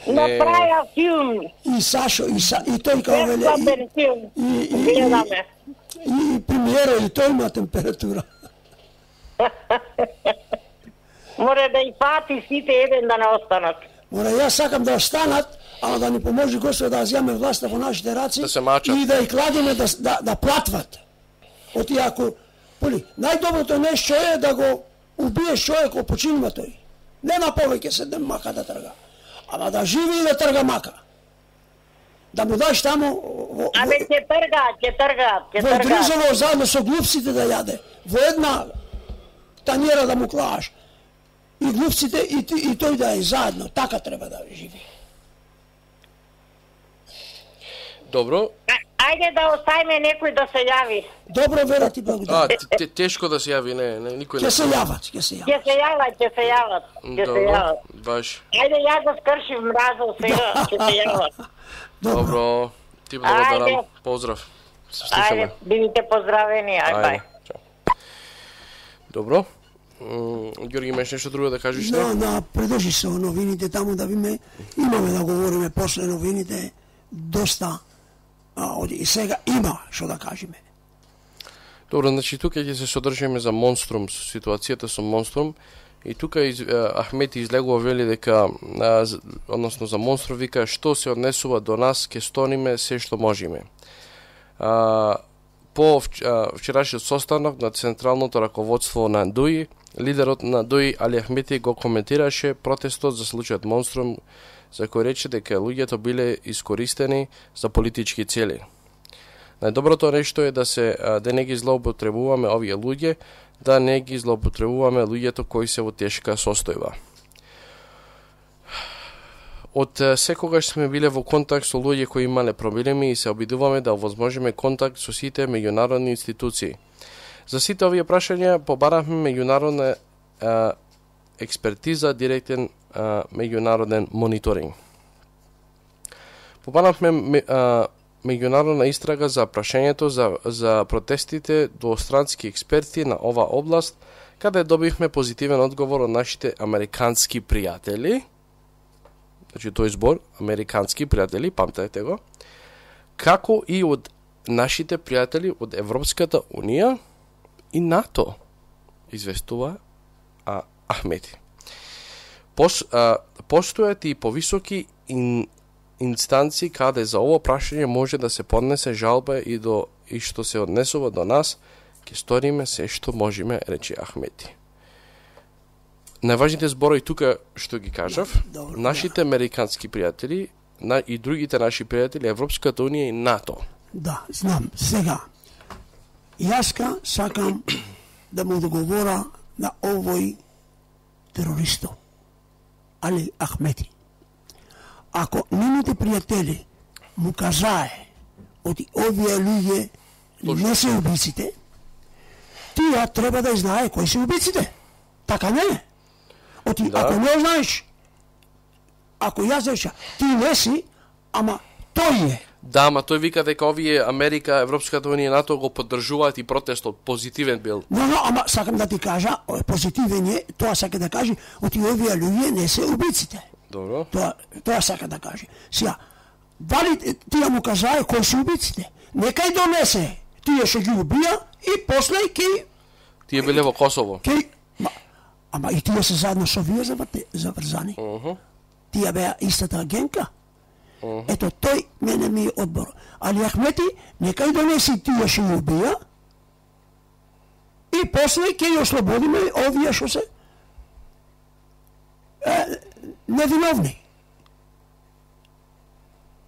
Направија филм. И Сашо, и, Са, и тој као веле, Бесплатен филм. и, и, и, Гледаме. и, и премиера, и тој има температура. Море да и фати сите еден да не останат. Мора, јас сакам да останат, ама да ни поможи Господ да зјаме власта во нашите раци Да се мачат. и да ја кладеме да, да, да платват. Оти ако, поли, најдоброто нешто е да го убиеш човекот, починува тој. Нема повеќе седем мака да трга. Ама да живи и да трга мака. Да му даш таму во, Абе, ќе тргаат, ќе тргаат, ќе во тргаат. Дризово заедно со глупците да јаде. Во една танjera да му клаш. И глупците и, ти- и тој да е заедно. Така треба да живи. Добро. А- Ајде да оставиме некој да се јави. Добро, Вера, ти А, благодарам. т- т- тешко да се јави, не, не никој не. Ќе се јават, ќе се јават. Ќе се јават, ќе се јават, ќе се Добро, јават. баш. Ајде ја го скршив мразов сега, ќе се јават. Добро. Ти благодарам. Ајде. Поздрав. Се Ајде, слушаме. бидите поздравени, ај бај. Ајде. Чао. Добро. М, Ѓорги, имаш нешто друго да кажеш? не? Да, да, придржи се о новините таму да биме, имаме да говориме после новините, доста, а, од- и сега има што да кажеме. Добро, значи тука ќе се содржиме за Монструм, со ситуацијата со Монструм. И тука из, а, Ахмети излегува вели дека, а, з- односно за Монструм вика, што се однесува до нас, ќе стониме се што можеме. А, по вч- а, вчерашниот состанок на централното раководство на ДУИ, лидерот на ДУИ Али Ахмети го коментираше протестот за случајот Монструм, за кој рече дека луѓето биле искористени за политички цели. Најдоброто нешто е да се а, да не ги злоупотребуваме овие луѓе, да не ги злоупотребуваме луѓето кои се во тешка состојба. Од а, секогаш сме биле во контакт со луѓе кои имале проблеми и се обидуваме да овозможиме контакт со сите меѓународни институции. За сите овие прашања побаравме меѓународна а, експертиза, директен а, меѓународен мониторинг. Побаравме ме- а, меѓународна истрага за прашањето за, за протестите до странски експерти на ова област, каде добивме позитивен одговор од нашите американски пријатели. Значи тој збор, американски пријатели, памтете го, како и од нашите пријатели од Европската Унија и НАТО, известува а, Ахмети. Пос, а, постојат и повисоки ин, инстанци каде за ово прашање може да се поднесе жалба и до и што се однесува до нас, ќе сториме се што можеме, рече Ахмети. Најважните зборови тука што ги кажав, Добро, нашите американски пријатели на, и другите наши пријатели, Европската Унија и НАТО. Да, знам. Сега, јаска сакам да му договора на овој терористо. Али Ахмети. Ако нивните пријатели му кажае оти овие луѓе не се убиците, тие треба да знае кои се убиците. Така не е. Оти, да. Ако не знаеш, ако јас реша, ти не си, ама тој е. Да, ама тој вика дека овие Америка, Европската унија и НАТО го поддржуваат и протестот позитивен бил. Но, но, ама сакам да ти кажа, позитивен е, тоа сака да каже, оти овие луѓе не се убиците. Добро. Тоа, тоа сака да каже. Сега, дали тие му кажае кои се убиците? Некај донесе, тие ще ги убија и после ке... Тие биле во Косово. Ке... Ма, ама и тие се заедно со вие заврзани. Uh -huh. Тие беа истата агенка. Uh -huh. Ето тој мене ми е одбор. Али Ахмети, некај донеси тие ще ги убија и после ке ја ослободиме овие што се е, невиновни.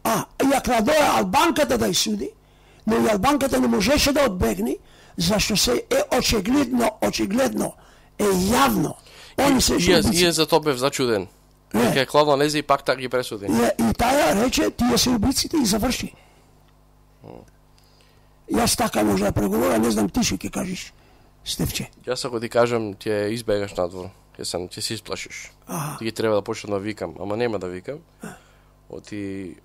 А, и ако надоја Албанката да ја суди, но и Албанката не можеше да одбегне, зашто се е очигледно, очигледно, е јавно. Они се убици. И за тоа бев зачуден. Дека е Клавна лезе и пак така ги пресуди. И, и таја рече, тие се убиците и заврши. Јас така може да преговора, не знам ти што ќе кажеш, Стефче. Јас ако ти кажам, ќе избегаш надвор. Ќе се, ќе се исплашиш. Ага. Ти ги треба да почнам да викам, ама нема да викам. Оти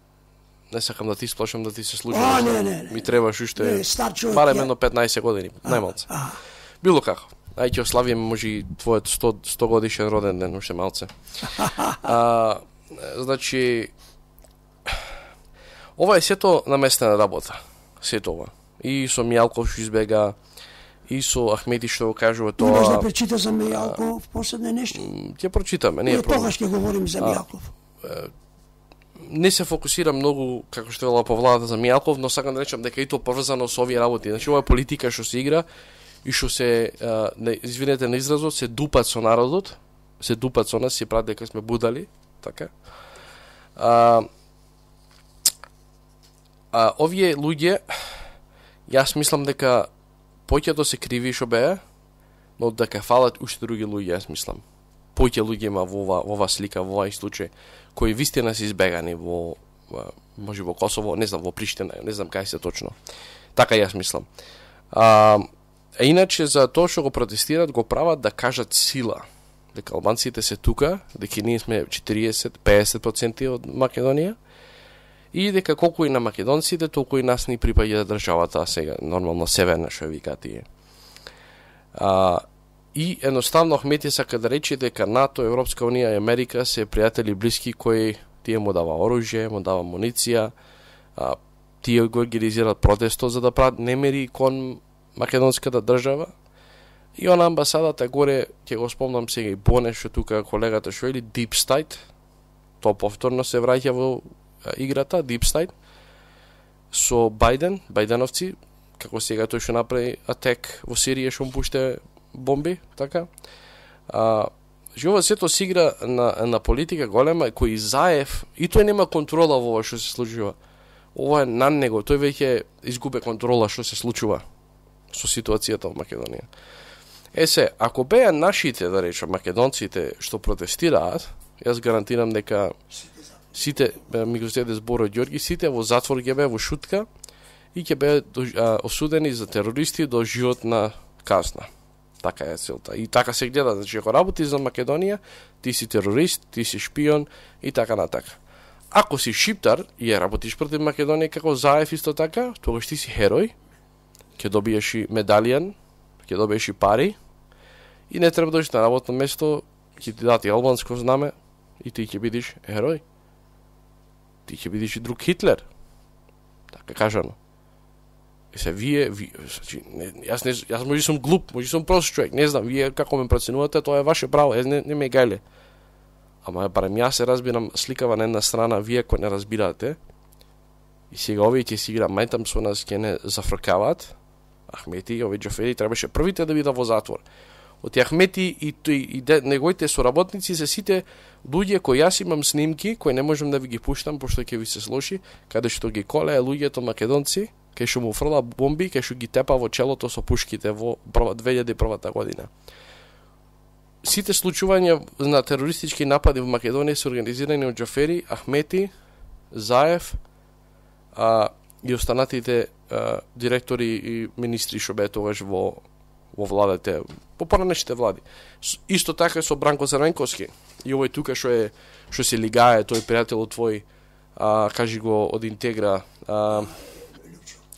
не сакам да ти исплашам да ти се случи. А, не, не, не. Ми требаш уште барем едно петнаесет години, најмалце. Било како. Ај ќе ославиме може и твојот сто годишен роден ден уште малце. А, значи ова е сето наместена работа. Сето ова. И со Мијалков што избега, и со Ахмети што го кажува тоа. Имаш да прочита за Мијалков последне нешто? Ќе прочитаме, не е проблем. Тогаш ќе говорим за Мијалков. Не се фокусирам многу, како што вела по владата за Мијалков, но сакам да речам дека и тоа поврзано со овие работи. Значи ова е политика што се игра и што се, не, извинете на изразот, се дупат со народот, се дупат со нас, се прават дека сме будали, така. А, а овие луѓе, јас мислам дека поќето се криви што беа, но дека фалат уште други луѓе, јас мислам. Поќе луѓе има во ова, во ова слика, во овај случај, кои вистина се избегани во, може во Косово, не знам, во Приштина, не знам кај се точно. Така јас мислам. А, а иначе за тоа што го протестират, го прават да кажат сила. Дека албанците се тука, дека ние сме четириесет до песет проценти од Македонија, и дека колку и на македонците, толку и нас ни припаѓа државата сега, нормално северна, што вика тие. А, и едноставно Ахмети сака да рече дека НАТО, Европска унија и Америка се пријатели блиски кои тие му дава оружје, му дава муниција, а, тие го организираат протестот за да прават немири кон македонската држава. И она амбасадата горе, ќе го спомнам сега и Боне, што тука колегата што или Deep State, тоа повторно се враќа во играта, Deep State, со Бајден, Бајденовци, како сега тој што направи атек во Сирија, што му пуште бомби, така. А, Жива сето се игра на, на политика голема, кој Заев, и тој нема контрола во ова што се случува. Ова е на него, тој веќе изгубе контрола што се случува со ситуацијата во Македонија. Е се, ако беа нашите, да речем, македонците што протестираат, јас гарантирам дека сите, ми го зеде збор од Ѓорги, сите во затвор ќе беа во шутка и ќе беа осудени за терористи до животна казна. Така е целта. И така се гледа, значи ако работиш за Македонија, ти си терорист, ти си шпион и така натака. Ако си шиптар и ја работиш против Македонија како Заев исто така, тогаш ти си херој, ќе добиеш и медалијан, ќе добиеш и пари и не треба да дојдеш на работно место, ќе ти дати албанско знаме и ти ќе бидеш херој. Ти ќе бидеш и друг Хитлер. Така кажано. И се вие, вие значи, не, јас не јас може сум глуп, може сум прост човек, не знам, вие како ме проценувате, тоа е ваше право, јас не, не ме гајле. Ама барем јас се разбирам сликава на една страна, вие кои не разбирате. И сега овие ќе си игра мајтам со нас, ќе не зафркаваат. Ахмети и овие Џафери требаше првите да бидат во затвор. Од Ахмети и тој и де, неговите соработници се сите луѓе кои јас имам снимки, кои не можам да ви ги пуштам пошто ќе ви се слоши, каде што ги коле луѓето македонци, кај што му фрла бомби, кај што ги тепа во челото со пушките во две илјади и прва година. сите случувања на терористички напади во Македонија се организирани од Џафери, Ахмети, Заев а, и останатите а, директори и министри што беа тогаш во во владите, по поранешните влади. Исто така со Бранко Црвенковски. И овој тука што е што се лигае, тој пријател твој, а, кажи го од Интегра, а,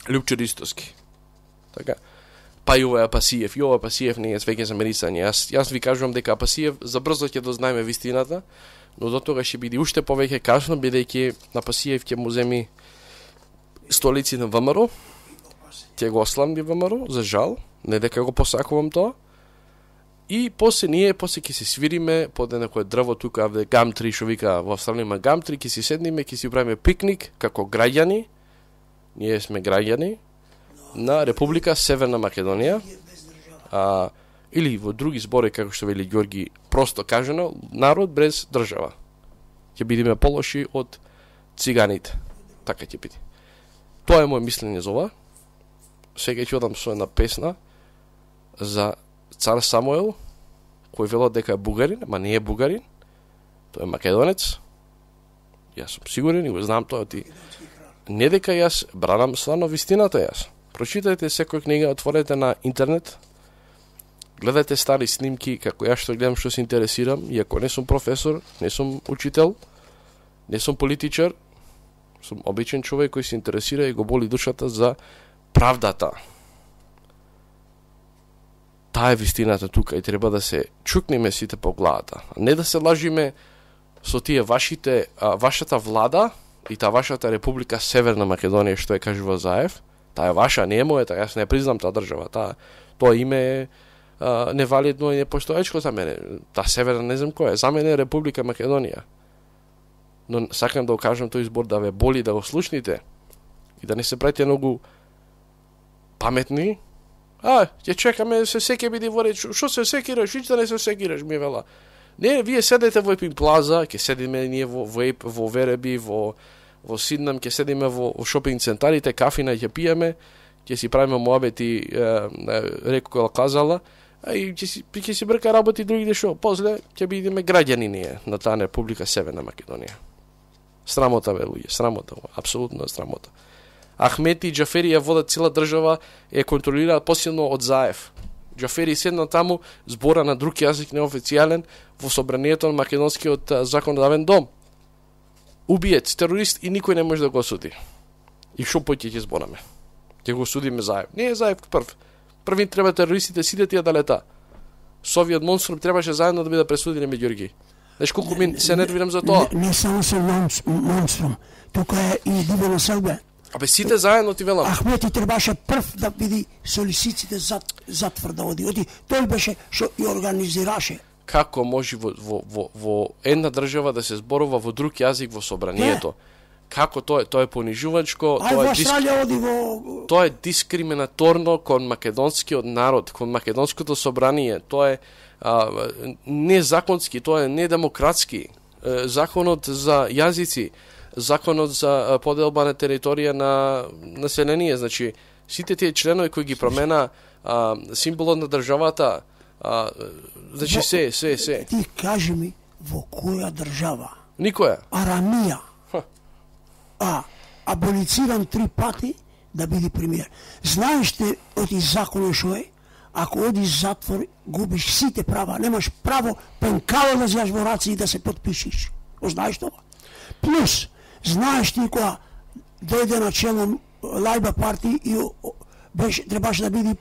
Лјупчо Ристовски. Така. Па и овој Апасиев, и овој Апасиев не е веќе за мерисање. Јас јас ви кажувам дека Апасиев забрзо ќе дознаеме вистината, но до тога ќе биде уште повеќе касно, бидејќи на Апасиев ќе му земи столици на ВМРО, ќе го осламди ВМРО, за жал, не дека го посакувам тоа. И после ние, после ќе се свириме под некое дрво тука, авде гамтри, што вика во Австралија има гамтри, ќе си седниме, ќе си правиме пикник како граѓани. Ние сме граѓани на Република Северна Македонија. А, или во други збори, како што вели Ѓорги, просто кажано, народ без држава. Ќе бидеме полоши од циганите. Така ќе биде. Тоа е моје мислење за ова. Сега ќе одам со една песна за цар Самуел, кој велат дека е бугарин, ама не е бугарин. Тој е македонец. Јас сум сигурен и го знам тоа ти. Не дека јас бранам стварно вистината јас. Прочитајте секоја книга, отворете на интернет, гледате стари снимки, како јас што гледам, што се интересирам, иако не сум професор, не сум учител, не сум политичар, сум обичен човек кој се интересира и го боли душата за правдата. Таа е вистината тука и треба да се чукнеме сите по главата. Не да се лажиме со тие вашите, а, вашата влада и таа вашата Република Северна Македонија, што е кажува Заев. Таа е ваша, не е мојата, јас не признам таа држава. Таа, тоа име е а, невалидно и непостоечко за мене. Таа Северна не знам која е. За мене е Република Македонија. Но сакам да окажам тој избор да ве боли да го слушните и да не се правите многу паметни. А, ќе чекаме се секи биде во реч. Што се секираш? Ичта не се секираш, ми вела. Не, вие седете во Епин Плаза, ќе седиме ние во во, во Вереби, во во Сиднам, ќе седиме во, во шопинг центарите, кафина ќе пиеме, ќе си правиме муабети, реко казала, а и ќе си ќе си брка работи другите шо. После ќе бидеме граѓани ние на таа Република Северна Македонија. Срамота бе луѓе, срамота, апсолутно срамота. Ахмети и Џафери ја водат цела држава, е контролираат посилно од Заев. Џафери седна таму, збора на друг јазик неофицијален во собранието на македонскиот законодавен дом. Убиец, терорист и никој не може да го осуди. И шо поќе ќе збораме? Ќе го судиме Заев. Не е Заев прв. Првин треба терористите сите тие да лета. Со овиот монструм требаше заедно да биде пресудени меѓу Ѓорги. Знаеш колку ми се нервирам за тоа? Не, не само со монструм, тука е и Дивена Селбе. Абе сите заедно ти велам. Ахмети требаше прв да види со лисиците зад затвор да оди. Оди тој беше што и организираше. Како може во, во, во, во една држава да се зборува во друг јазик во собранието? Не. Како тоа е, тоа е понижувачко, Ај, тоа е диск... оди во... тоа е дискриминаторно кон македонскиот народ, кон македонското собрание. Тоа е а, незаконски, тоа е недемократски. Законот за јазици, законот за поделба на територија на население, значи сите тие членови кои ги промена а, символот на државата, а, значи во, се, се, се. Ти кажи ми во која држава? Никоја. Арамија. А, аболициран три пати да биде премиер. Знаеш ли оти законот шо е? Ако одиш затвор, губиш сите права. Немаш право пенкало да зјаш во раци и да се подпишиш. Знаеш тоа? Плюс, знаеш ли кога дојде на чело Лајба парти и беше, требаше да биде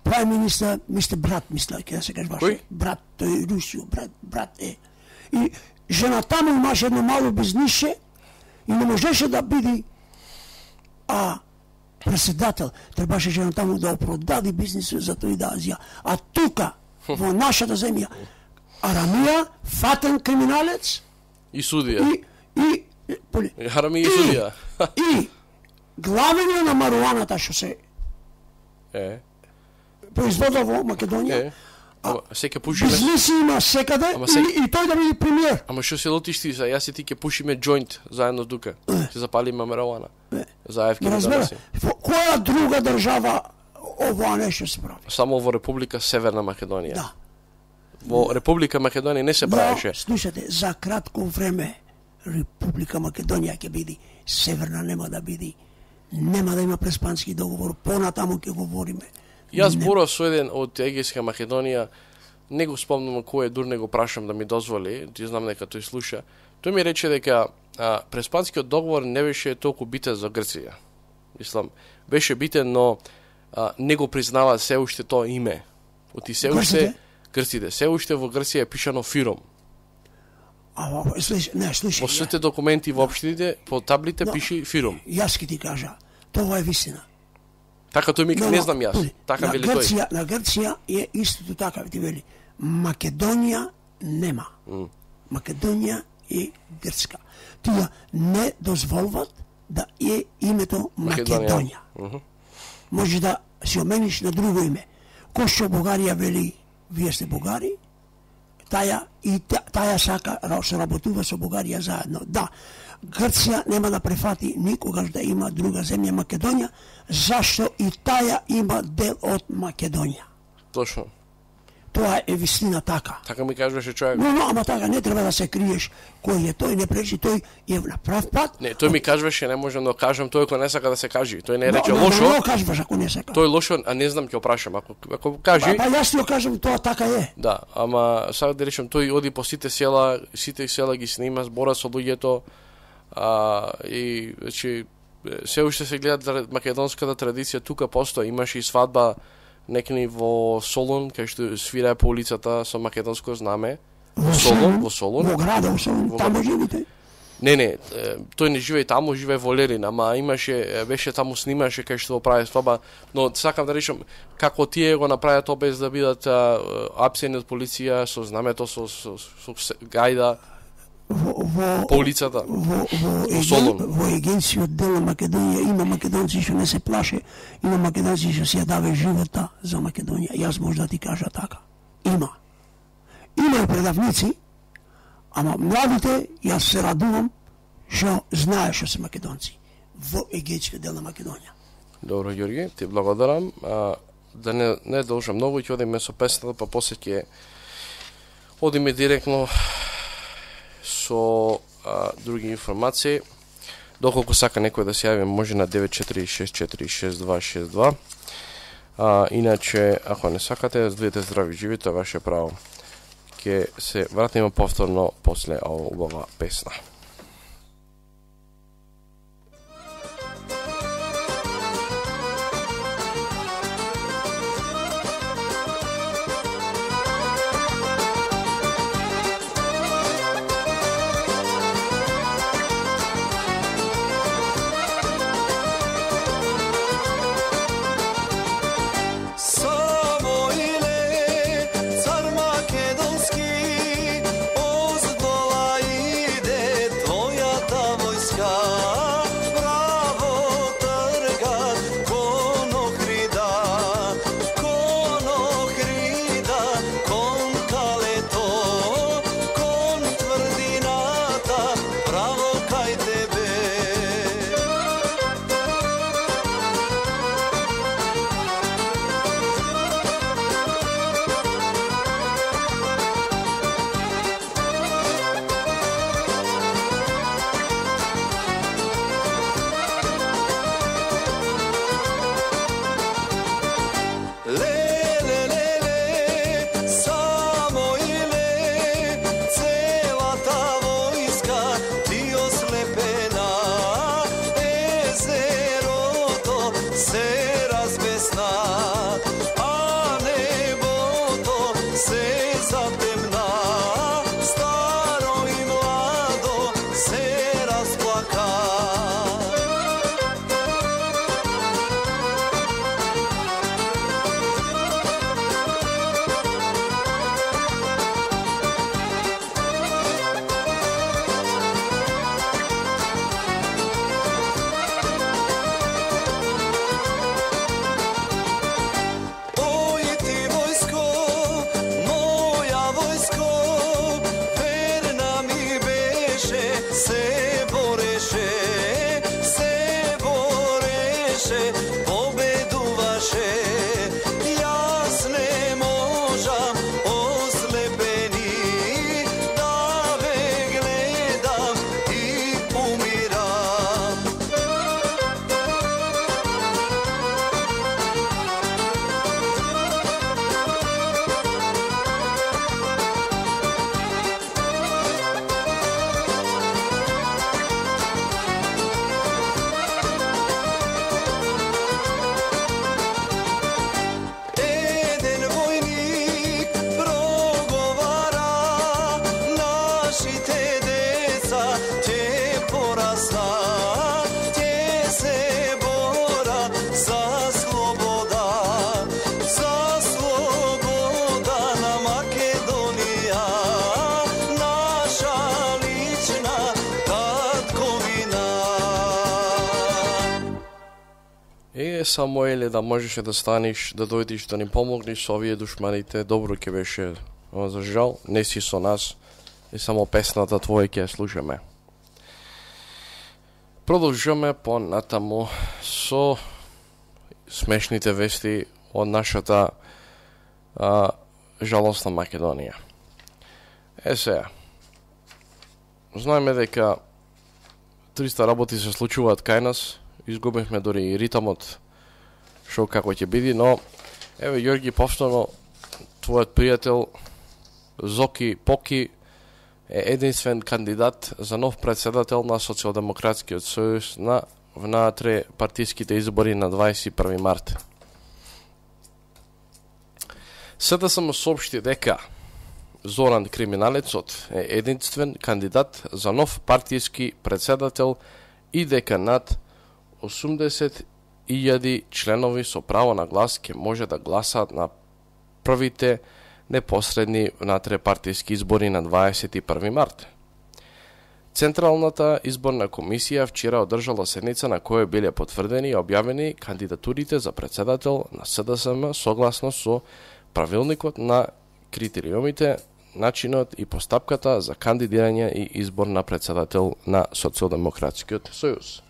прави министр, мистер Брат, мисля, ќе да се кажеш баш. Брат, тој е Русио, брат, брат е. И жена таму имаше едно мало бизнише и не можеше да биде а председател. Требаше жена таму да опродади бизнисот за тој да Азија. А тука, во нашата земја, Арамија, фатен криминалец и судија. И и поли. Арамија и судија. И главење на маруаната што се е производува во Македонија. Е. Ама се ќе пушиме. Бизнеси има секаде се... и, и тој да биде премиер. Ама што се лутиш ти, јас и ти ќе пушиме джоинт заедно тука. Ќе запалиме маруана. Заев ќе разбере. Во која друга држава ова нешто се прави? Само во Република Северна Македонија. Да. во Република Македонија не се правеше. Но, слушате, за кратко време Република Македонија ќе биде, Северна нема да биде, нема да има преспански договор, понатаму ќе говориме. Јас зборав со еден од Егејска Македонија, не го спомнам кој е, дур не го прашам да ми дозволи, ти знам дека тој слуша. Тој ми рече дека а, преспанскиот договор не беше толку битен за Грција. Мислам, беше битен, но а, не го признава се уште тоа име. Оти се уште Грците, се уште во Грција е пишано Фиром. А, слуш, не, слушай. Во сите документи во општините, по таблите но, пиши Фиром. Јас ќе ти кажа, тоа е вистина. Така тој ми но, не знам јас. Така вели Грција, тој. На Грција е истото така, ти вели. Македонија нема. Mm. Македонија е грцка. Тие не дозволват да е името Македонија. Македонија. Mm -hmm. Може да си омениш на друго име. Кој што Бугарија вели, вие сте бугари, таја и таја сака се работува со Бугарија заедно. Да, Грција нема да префати никогаш да има друга земја Македонија, зашто и таја има дел од Македонија. Точно. Тоа е вистина така. Така ми кажуваше човек. Но, но, ама така не треба да се криеш кој е тој, не пречи, тој е на прав пат. Не, тој ми кажуваше, не можам да кажам, тој кој не сака да се кажи. Тој не рече но, лошо. Но, но, кажуваш ако не сака. Тој лошо, а не знам ќе опрашам, ако ако кажи. Па, па јас ти го кажам, тоа така е. Да, ама сега да речем, тој оди по сите села, сите села ги снима, збора со луѓето, а и значи се уште се гледа македонската традиција, тука постои, имаше и свадба некни во Солун, кај што свирае по улицата со македонско знаме. Во Солун, во Солун. Во града, во Солун, во... таму живите? Не, не, тој не живее таму, живее во Лерин, ама имаше, беше таму снимаше кај што прави свадба, но сакам да речем, како тие го направија тоа без да бидат апсени од полиција, со знамето, со, со, со, со гајда, во, во, по улицата, во, во, во Солун. Во егенцијот дел на Македонија има македонци што не се плаше, има македонци што си ја даве живота за Македонија. Јас може да ти кажа така. Има. Има и предавници, ама младите, јас се радувам што знае што се македонци во егенцијот дел на Македонија. Добро, Ѓорги, ти благодарам. А, да не, не должам многу, ќе одиме со песната, па после ќе одиме директно со а, други информации. Доколку сака некој да се јави, може на девет четири шест четири шест два шест два. А, иначе, ако не сакате, бидете здрави, живи, тоа е ваше право. Ке се вратиме повторно после оваа песна. Цар македонски, оздола иде Е, Самуеле, да можеше да станиш, да дојдеш да ни помогнеш со овие душманите, добро ќе беше. Но за жал, не си со нас и само песната твоја ќе ја слушаме. Продолжуваме по натаму со смешните вести од нашата а, жалосна Македонија. Е сега, знаеме дека триста работи се случуваат кај нас, изгубихме дори и ритамот, шо како ќе биде, но еве Јорги повторно, твојот пријател Зоки Поки е единствен кандидат за нов председател на Социјалдемократскиот сојуз на внатре партиските избори на дваесет и први март. СДСМ соопшти дека Зоран Криминалецот е единствен кандидат за нов партиски председател и дека над осумдесет илјади членови со право на глас ќе може да гласаат на првите непосредни внатре партиски избори на дваесет и први март. Централната изборна комисија вчера одржала седница на која биле потврдени и објавени кандидатурите за председател на СДСМ согласно со правилникот на критериумите, начинот и постапката за кандидирање и избор на председател на Социјалдемократскиот сојуз.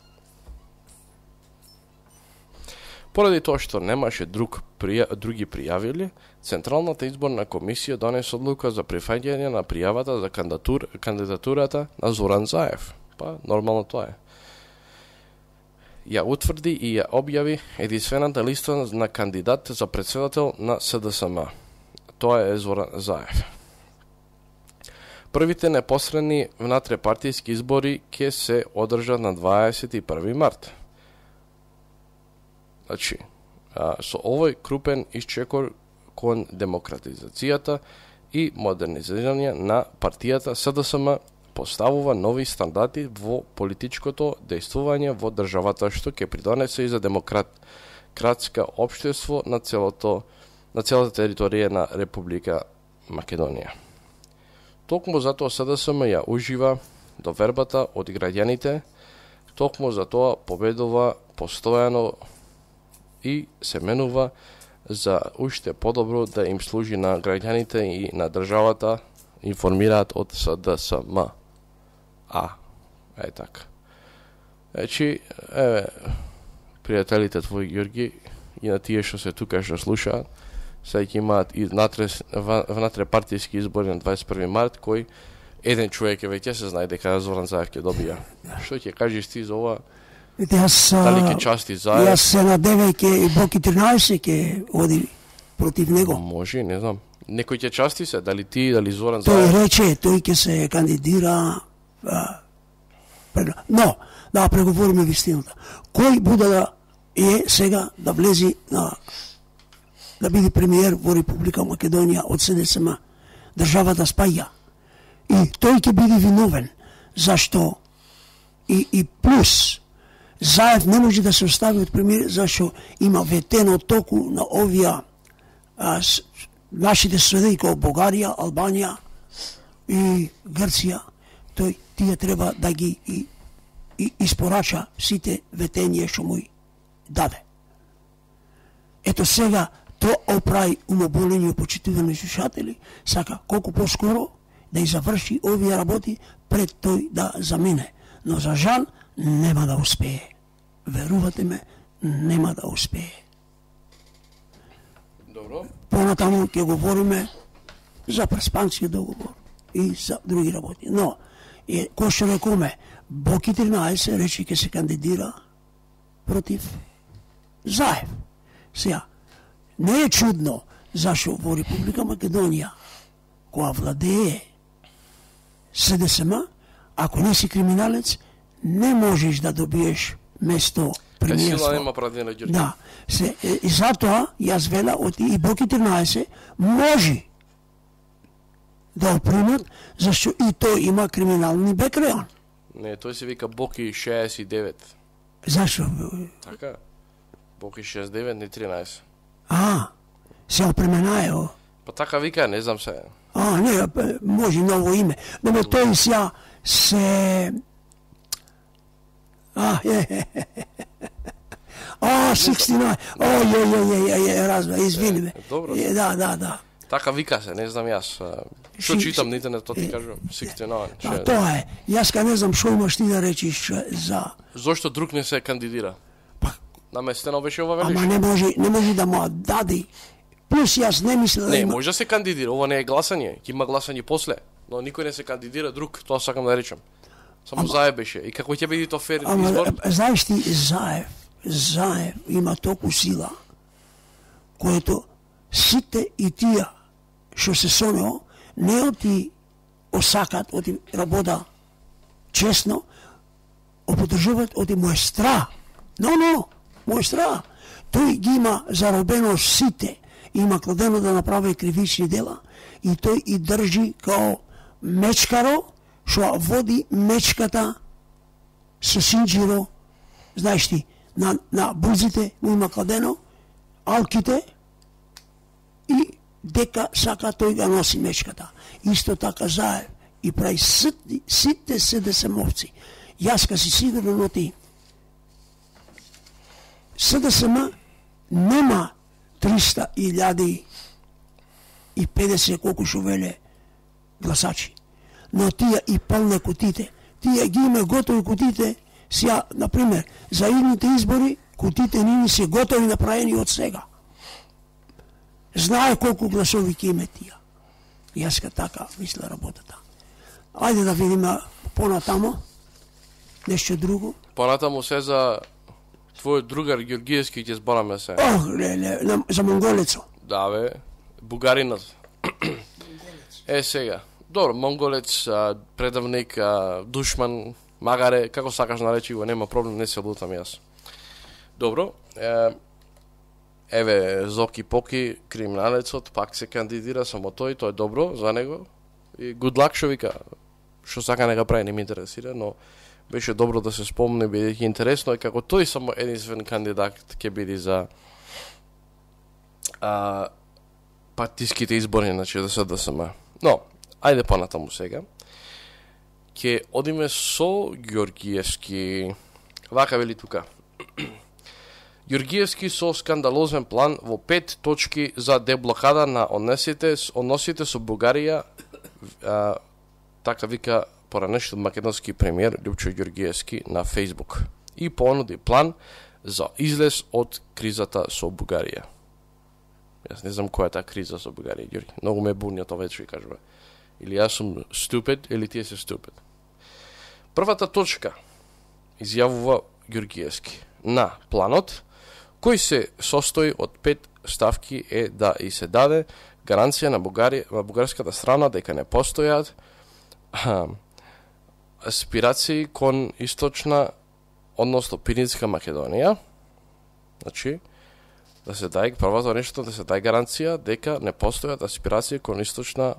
Поради тоа што немаше друг прија, други пријавили, Централната изборна комисија донесе одлука за прифаќање на пријавата за кандидатур, кандидатурата на Зоран Заев. Па, нормално тоа е. Ја утврди и ја објави единствената листа на кандидат за председател на СДСМ. Тоа е Зоран Заев. Првите непосредни внатре партиски избори ќе се одржат на дваесет и први март. Значи, а, со овој крупен исчекор кон демократизацијата и модернизирање на партијата СДСМ поставува нови стандарди во политичкото дејствување во државата, што ќе придонесе и за демократска општество на целото на целата територија на Република Македонија. Токму затоа СДСМ ја ужива довербата од граѓаните, токму затоа победува постојано и се менува за уште подобро да им служи на граѓаните и на државата, информираат од СДСМ. А, е така. Значи, еве, пријателите твои, Ѓорги, и на тие што се тука што слушаат, сега ќе имаат и внатре, внатре партиски избори на дваесет и први март, кој еден човек е веќе се знае дека Зоран Заев ќе добија. Што ќе кажеш ти за ова? Јас, Дали ќе части Заев? Јас се надевам ке и Боки тринаесет ќе оди против него. Може, не знам. Некој ќе части се, дали ти, дали Зоран Тој Заев? рече, тој ќе се кандидира. А, пред... Но, да преговориме вистината. Кој буде да е сега да влези на да биде премиер во Република Македонија од СДСМ, државата спаѓа. И тој ќе биде виновен. Зашто? И, и плюс, Заев не може да се остави од премиер, зашто има ветено току на овие а, с, нашите соседи како Бугарија, Албанија и Грција. Тој тие треба да ги и, и испорача сите ветенија што му даде. Ето сега тоа оправи умоболени почитувани слушатели, сака колку поскоро да и заврши овие работи пред тој да замине. Но за жал нема да успее. Верувате ме, нема да успее. Добро. Понатаму ќе говориме за преспанскиот договор и за други работи. Но, е, кој што рекоме, Боки тринаесет рече ќе се кандидира против Заев. Сега, не е чудно зашо во Република Македонија, која владее СДСМ, ако не си криминалец, не можеш да добиеш место премиерство. Сила нема прадина, Ѓорѓе. Да. Се, е, и затоа, јас вела, од и Боки тринаесет може да опримат, зашто и тој има криминални бекграунд. Не, тој се вика Боки шеесет и девет. Зашо? Така? Боки шеесет и девет, не тринаесет. А, се опременајо. Па така вика, не знам се. А, не, може ново име. Но ме тој сега се... А, е, е, е, е. А, шеесет девет. Ој, ој, ој, ој, ој, разбра, извини ме. Добро. Да, да, да. Така вика се, не знам јас. Што читам на интернет, тоа ти кажувам, шеесет девет. Да, тоа е. Јас ка не знам што имаш ти да речиш за... Зошто друг не се кандидира? Па... Наместено беше ова велиш? Ама не може, не може да му дади. Плюс јас не мислам да не, има... може да се кандидира, ова не е гласање, ќе има гласање после, но никој не се кандидира друг, тоа сакам да речам. Само ама... Заев беше. И како ќе биде тоа фер ама, избор? Знаеш ти, Заев, Заев има толку сила, което сите и тие што се со него, не оти осакат, оти работа честно, оподржуваат, оти му е страх. Но, но, му е страх. Тој ги има заробено сите, има кладено да направи кривични дела и тој и држи као мечкаро, што води мечката со синџиро, знаеш ти, на, на бузите му има кладено, алките и дека сака тој да носи мечката. Исто така Заев и прави сите, сите СДСМовци. Јас ка си сигурно оти СДСМ нема триста илјади и педесет колку што веле гласачи. Но тие и пълне кутите. Тие ги има готови кутите. Сега, например, за идните избори кутите нини се готови направени од сега. Знае колку гласови ќе име тие. Јас ка така мисля работата. Ајде да видиме понатамо. Нешто друго. Понатамо се за твојот другар Георгиевски ќе збораме се. Ох, леле, за монголецо. Да бе, бугаринот. Е сега. Добро, монголец, предавник, душман, магаре, како сакаш наречи го, нема проблем, не се лутам јас. Добро, е, еве Зоки Поки, криминалецот, пак се кандидира, само тој, тоа е добро за него. И good luck, шо вика, што сака не го прави, не ми интересира, но беше добро да се спомне, бидејќи интересно е како тој само единствен кандидат ќе биде за а, партиските избори, значи да се СДСМ. Но, ајде понатаму сега. Ке одиме со Георгиевски. Вака вели тука. Георгиевски со скандалозен план во пет точки за деблокада на односите, односите со Бугарија, а, така вика поранешен македонски премиер Лјупчо Георгиевски на Facebook. И понуди план за излез од кризата со Бугарија. Јас не знам која е таа криза со Бугарија, Георги. Многу ме буни тоа вече ви кажува. Или јас сум stupid, или тие се stupid. Првата точка изјавува Георгиевски на планот, кој се состои од пет ставки, е да и се даде гаранција на Бугарија, на бугарската страна дека не постојат а, аспирации кон источна, односно Пиринска Македонија. Значи, да се даде првото нешто, да се даде гаранција дека не постојат аспирации кон источна,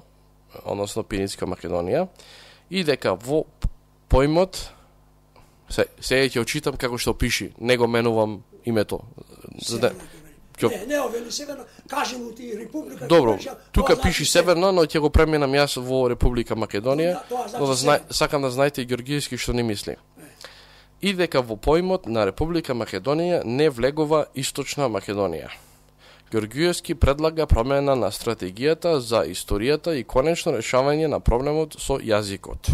односно Пиринска Македонија, и дека во поимот, се, сега ќе очитам како што пиши, не го менувам името. За да, ќе... Не, не, овели северно, кажи му ти Република... Добро, тука пиши северно, но ќе го пременам јас во Република Македонија, но да зна... сакам да знаете Георгиевски што не мисли. И дека во поимот на Република Македонија не влегува Источна Македонија. Георгиевски предлага промена на стратегијата за историјата и конечно решавање на проблемот со јазикот.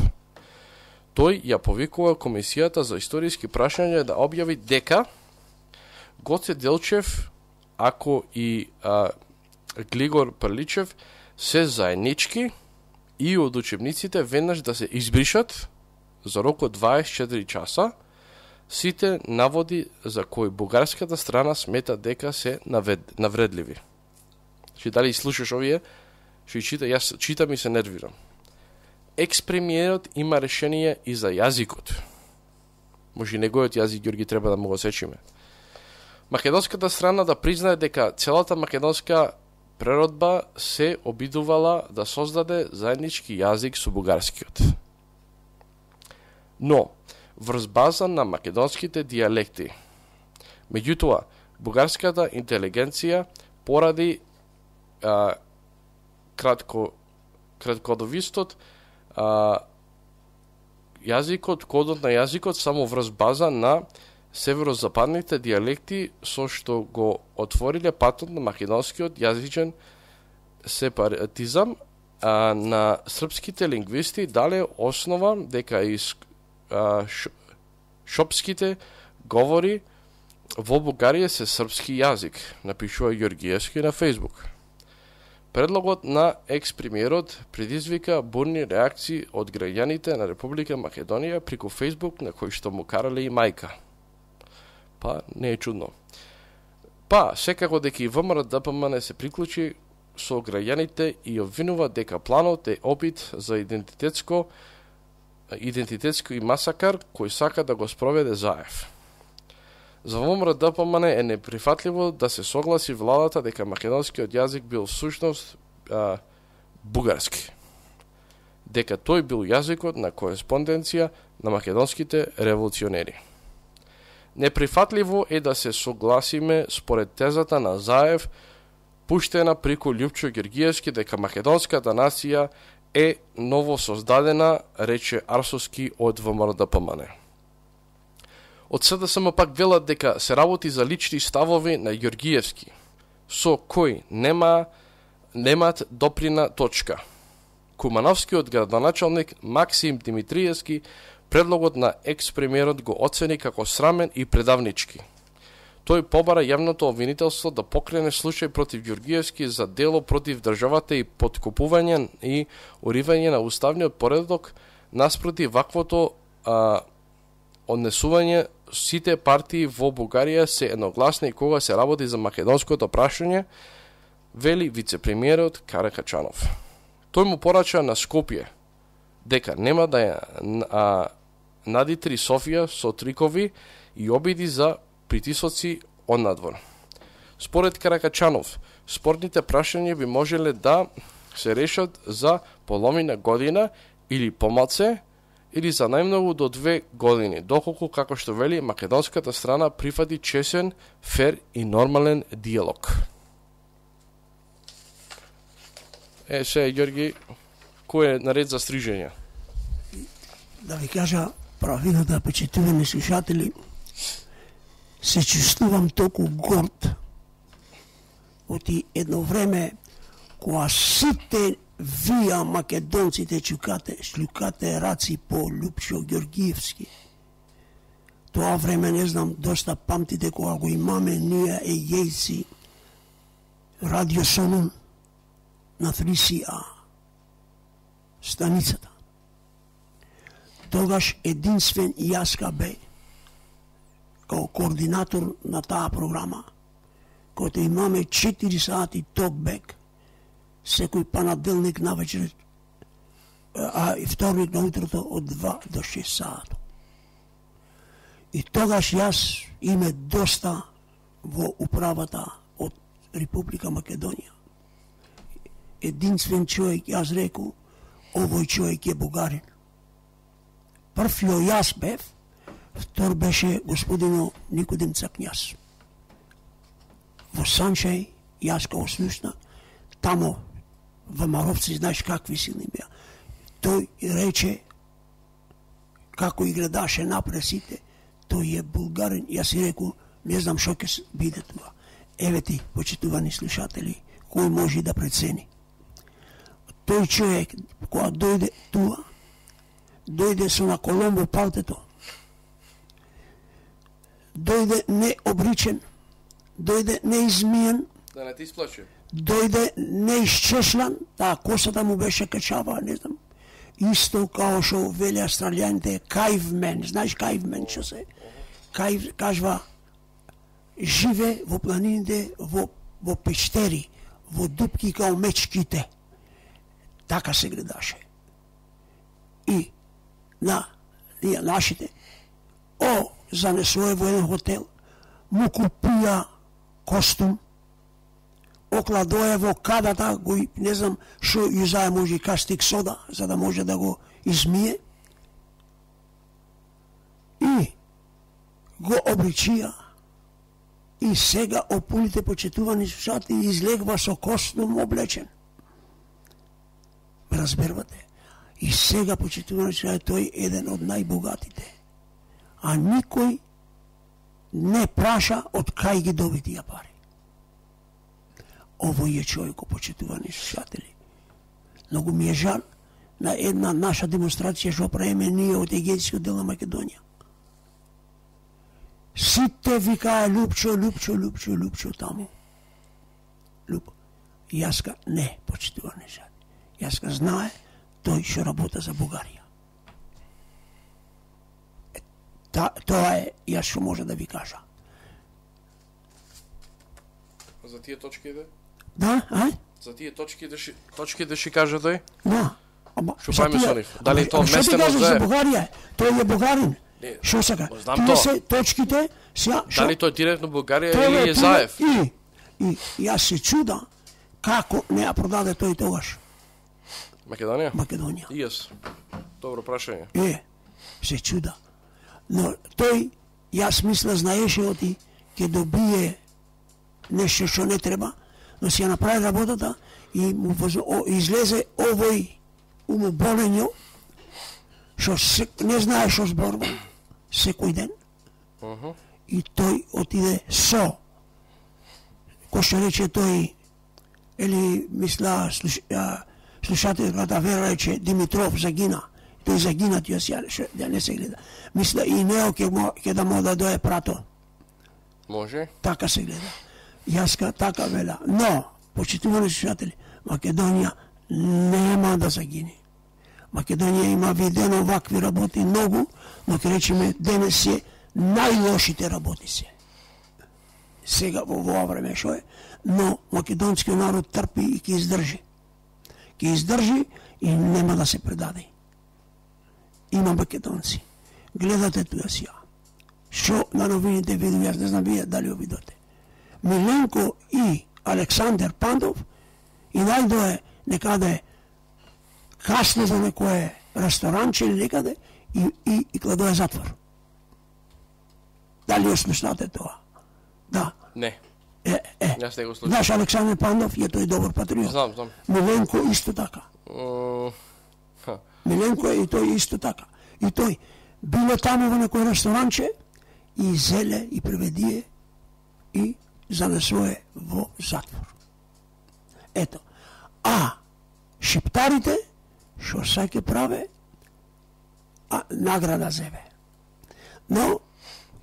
Тој ја повикува Комисијата за историски прашања да објави дека Гоце Делчев, ако и а, Глигор Прличев се заеднички и од учебниците веднаш да се избришат за рок од дваесет и четири часа сите наводи за кои бугарската страна смета дека се навед, навредливи. Че дали слушаш овие, што чита, јас читам и се нервирам. Екс-премиерот има решение и за јазикот. Може неговиот јазик, Георги, треба да му го сечиме. Македонската страна да признае дека целата македонска преродба се обидувала да создаде заеднички јазик со бугарскиот. Но, врз база на македонските дијалекти. Меѓутоа, бугарската интелигенција поради а, кратко, краткодовистот а, јазикот, кодот на јазикот само врз база на северозападните дијалекти со што го отвориле патот на македонскиот јазичен сепаратизам, а на српските лингвисти дале основа дека из а, ш, шопските говори во Бугарија се српски јазик, напишува Ѓоргиевски на Фејсбук. Предлогот на екс-премиерот предизвика бурни реакции од граѓаните на Република Македонија преку Фејсбук, на кој што му карале и мајка. Па, не е чудно. Па, секако дека и ВМРО-ДПМН се приклучи со граѓаните и обвинува дека планот е опит за идентитетско идентитетски масакар кој сака да го спроведе Заев. За ВМРО-ДПМН е неприфатливо да се согласи владата дека македонскиот јазик бил всушност а, бугарски. Дека тој бил јазикот на кореспонденција на македонските револуционери. Неприфатливо е да се согласиме според тезата на Заев, пуштена преку Љупчо Ѓоргиевски, дека македонската нација е ново создадена, рече Арсовски од ВМРО-ДПМН. Од СДСМ пак велат дека се работи за лични ставови на Ѓоргиевски, со кој нема немат доприна точка. Кумановскиот градоначалник Максим Димитриевски предлогот на екс-премиерот го оцени како срамен и предавнички. Тој побара јавното обвинителство да покрене случај против Ѓоргиевски за дело против државата и подкупување и уривање на уставниот поредок наспроти ваквото а, однесување. Сите партии во Бугарија се едногласни кога се работи за македонското прашање, вели вице-премиерот Каракачанов. Тој му порача на Скопје дека нема да ја а, надитри Софија со трикови и обиди за притисоци од надвор. Според Каракачанов, спорните прашања би можеле да се решат за половина година или помалце, или за најмногу до две години, доколку, како што вели, македонската страна прифати чесен, фер и нормален диалог. Е, се, Ѓорги, кој е наред за стрижење? Да ви кажа правилата, почитувани слушатели, се чувствувам толку горд оти едно време кога сите вие македонците чукате, шлюкате раци по Љупчо Ѓоргиевски. Тоа време, не знам, доста памтите кога го имаме ние ејејци Радио Солун на три си а станицата. Тогаш единствен јаска бе као координатор на таа програма, којато имаме четири сати токбек секој понеделник на вечер, а и вторник на утрото од два до шест сати. И тогаш јас име доста во управата од Република Македонија. Единствен човек, јас реку, овој човек е бугарин. Првиот јас бев, втор беше господино Никодим Цакњас. Во Санчај, јас као слушна, тамо во Маровци, знаеш какви силни беа. Тој рече, како и гледаше напред сите, тој е булгарин. Јас си реку, не знам шо ќе биде тоа. Еве ти, почитувани слушатели, кој може да прецени. Тој човек, кога дојде туа, дојде со на Коломбо палтето, дојде необричен, дојде неизмиен, да не ти сплаче, дојде неисчешлан, таа косата му беше качава, не знам, исто као што вели австралијаните, кајвмен, знаеш кајвмен што се, кајв, кажва, живе во планините, во, во пештери, во дупки као мечките. Така се гледаше. И на ние нашите, о, занесоe во еден хотел, му купија костум, окладоe во кадата, го, не знам, шо јузае може кастик сода, за да може да го измие. И го обличија. И сега опулите почитувани слушатели излегва со костум облечен. Разбервате? И сега почитувани слушатели тој е еден од најбогатите. А никој не праша од кај ги доби тие пари. Овој е човеко, почитувани слушатели. Многу ми е жал на една наша демонстрација што правиме ние од егејскиот дел на Македонија. Сите викаа Лупчо, Лупчо, Лупчо, Лупчо таму. Луп. Јаска не, почитувани жал. Јаска знае тој што работа за Бугарија. Та, тоа е јас што може да ви кажа. За тие точки иде? Да, а? За тие точки да ши, точки да ши кажа тој? Да. Ама што правиме со нив? Дали тоа местено за за Бугарија? Тој е бугарин. Што сака? Тие се точките, сега дали тој директно Бугарија или е Заев? И и јас се чуда како не ја продаде тој тогаш. Македонија? Македонија. И јас. Добро прашање. Е, се чуда. Но тој, јас мисля, знаеше оти ќе добие нешто што не треба, но си ја направи работата и му излезе овој умоболењо што не знае што зборува секој ден. Uh -huh. И тој отиде со, кој што рече тој, или мисля, слуш, слушателката Вера рече Димитров загина. Тој загина, тие ја да не се гледа. Мисля и Нео ќе ќе да му да дое прато. Може. Така се гледа. Јаска така вела. Но, почитувани слушатели, Македонија нема да загине. Македонија има видено вакви работи многу, но ќе речеме денес се најлошите работи се. Сега во ова време што е, но македонскиот народ трпи и ќе издржи. Ќе издржи и нема да се предаде. Има македонци. Гледате туја сија. Што на новините виду, јас не знам вие дали го видите. Миленко и Александер Пандов и најдое некаде касно за некое ресторанче или некаде и, и, и кладое затвор. Дали осмешнате тоа? Да. Не. Е, е. Јас не го слушам. Знаеш, Александер Пандов е тој добар патриот. Знам, знам. Миленко исто така. Uh, Миленко е и тој исто така. И тој било таму во некој ресторанче и зеле и преведие и занесое во затвор. Ето. А шиптарите што саќе праве, а награда зебе. Но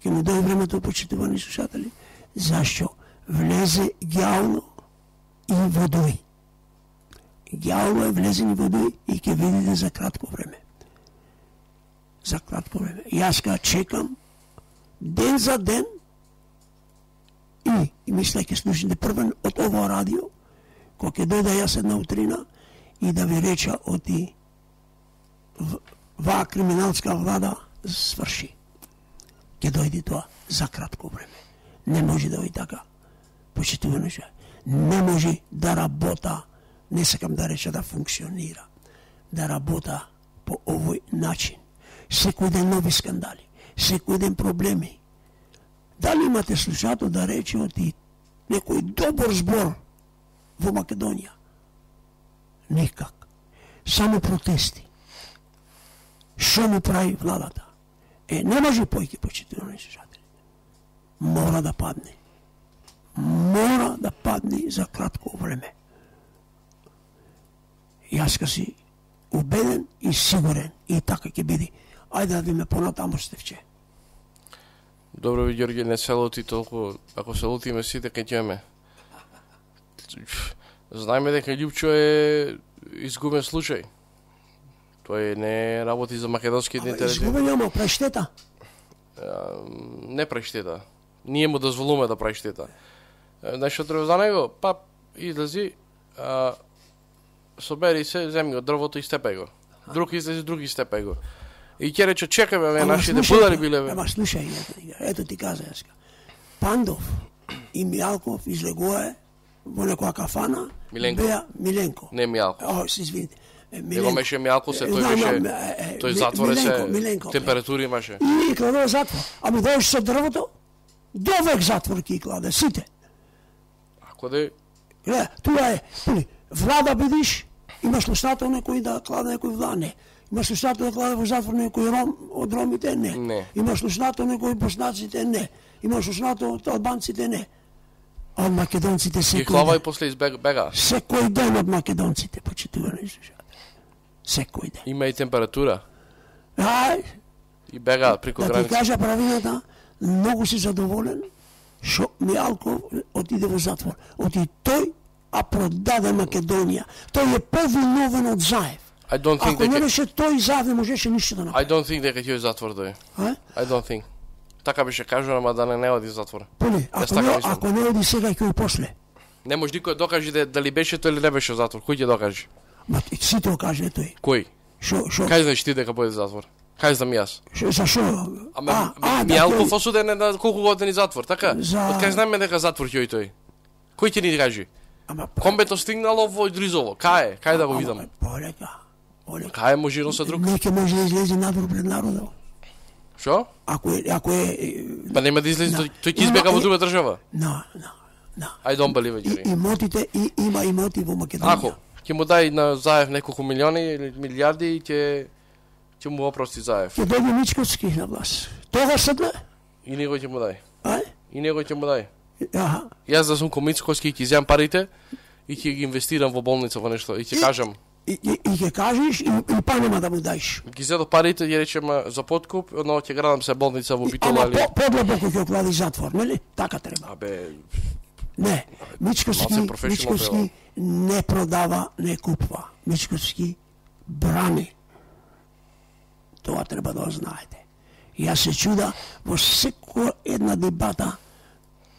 ќе му дојде времето, почитувани слушатели, зашто влезе гјално и водој. Гјално е влезен и водој и ќе видите за кратко време. За кратко време. Јас ка чекам ден за ден и, и мисля ќе слушате првен од ова радио, кога ќе дојда јас една утрина и да ви реча оти ваа криминалска влада сврши. Ќе дојде тоа за кратко време. Не може да дојде така. Почитувано ше. Не може да работа, не сакам да реча да функционира, да работа по овој начин. Секој ден нови скандали, секој ден проблеми. Дали имате слушато да рече оти некој добар збор во Македонија? Никак. Само протести. Што му прави владата? Е, не може појки почитувани слушатели. Мора да падне. Мора да падне за кратко време. Јас ка си убеден и сигурен и така ќе биде. Ајде да видиме понатаму, Стефче. Добро ви, Ѓорѓе, не се лути толку. Ако се лутиме сите, кај ќеме. Знаеме дека Љупчо е изгубен случај. Тој не работи за македонските интереси. Изгубен ама прави штета. Не прави штета. Ние му дозволуваме да прави штета. Нешто треба за него, па излези, а, собери се, земи го дрвото и степај го. Друг излези, други степај го. И ќе рече, чекаме, ве, нашите будари биле, бе. Ама слушај, ето, ето ти каза јаска. Пандов и Мијалков излегуе во некоја кафана. Миленко. Беа Миленко. Не Мијалков. О, се извините. Него беше Мијалков се, тој беше, тој затворе се, температури имаше. И кладува затвор. Ами дојш со дрвото, довек затвор ки кладе, сите. Ако да е... Гледа, туа е, пули, влада бидиш, имаш лустато некој да кладе некој влада, не. Има слушател да кладе во затвор некој ром од ромите? Не. Не. Има слушател некој боснаците? Не. Има слушател од албанците? Не. А од македонците секој Ги клава и после избега. Секој ден од македонците, почитувани слушатели. Секој ден. Има и температура. Ај. И бега преку да граница. Да ти кажа правината, многу си задоволен што Мијалков отиде во затвор. Оти тој, а продаде Македонија. Тој е повиновен од Заев. I don't think Ако дека... не беше тој, Заев не можеше ништо да направи. I don't think дека ќе затвор дој. А? I don't think. Така беше кажано, ама да не не оди затвор. Поле, ако, не, ако не оди сега ќе и после. Не може никој докаже да, дали беше тој или не беше затвор. Кој ќе докаже? Ма си тоа каже тој. Кој? Шо, шо? Кај знаеш ти дека буде затвор? Кај знам јас? Шо, за шо? Ама Мијалков осуден е на колку години затвор, така? За... Од кај знаме дека затвор ќе тој? Кој ќе ни каже? Ама Комбето стигнало во Дризово. Кај е? Кај да го видам? Полека. Полека. Кај може едно со друг? Не ќе може да излезе надвор пред народот. Шо? Ако е, ако е... Па нема да излезе, тој, тој ќе избега во друга држава. На, на, на. I don't believe it, Јури. Имотите, и, има имоти во Македонија. Ако, ќе му дај на Заев неколку милиони или милиарди и ќе ќе му опрости Заев. Ќе дојде Мичковски на власт. Тогаш седне? И него ќе му дај. Ај? И него ќе му дај. Аха. Јас да сум ко Мицковски ќе изјам парите и ќе ги инвестирам во болница во нешто и ќе кажам. И, и, и ќе кажеш и, и па нема да му даиш. Ги зедо парите, ја речеме за подкуп, но ќе градам се болница во Битола или... Ама по, подлабоко ќе оклади затвор, нели? Така треба. Абе... Не, Мичковски, Мичковски не продава, не купува. Мичковски брани. Тоа треба да го знаете. Јас се чуда во секоја една дебата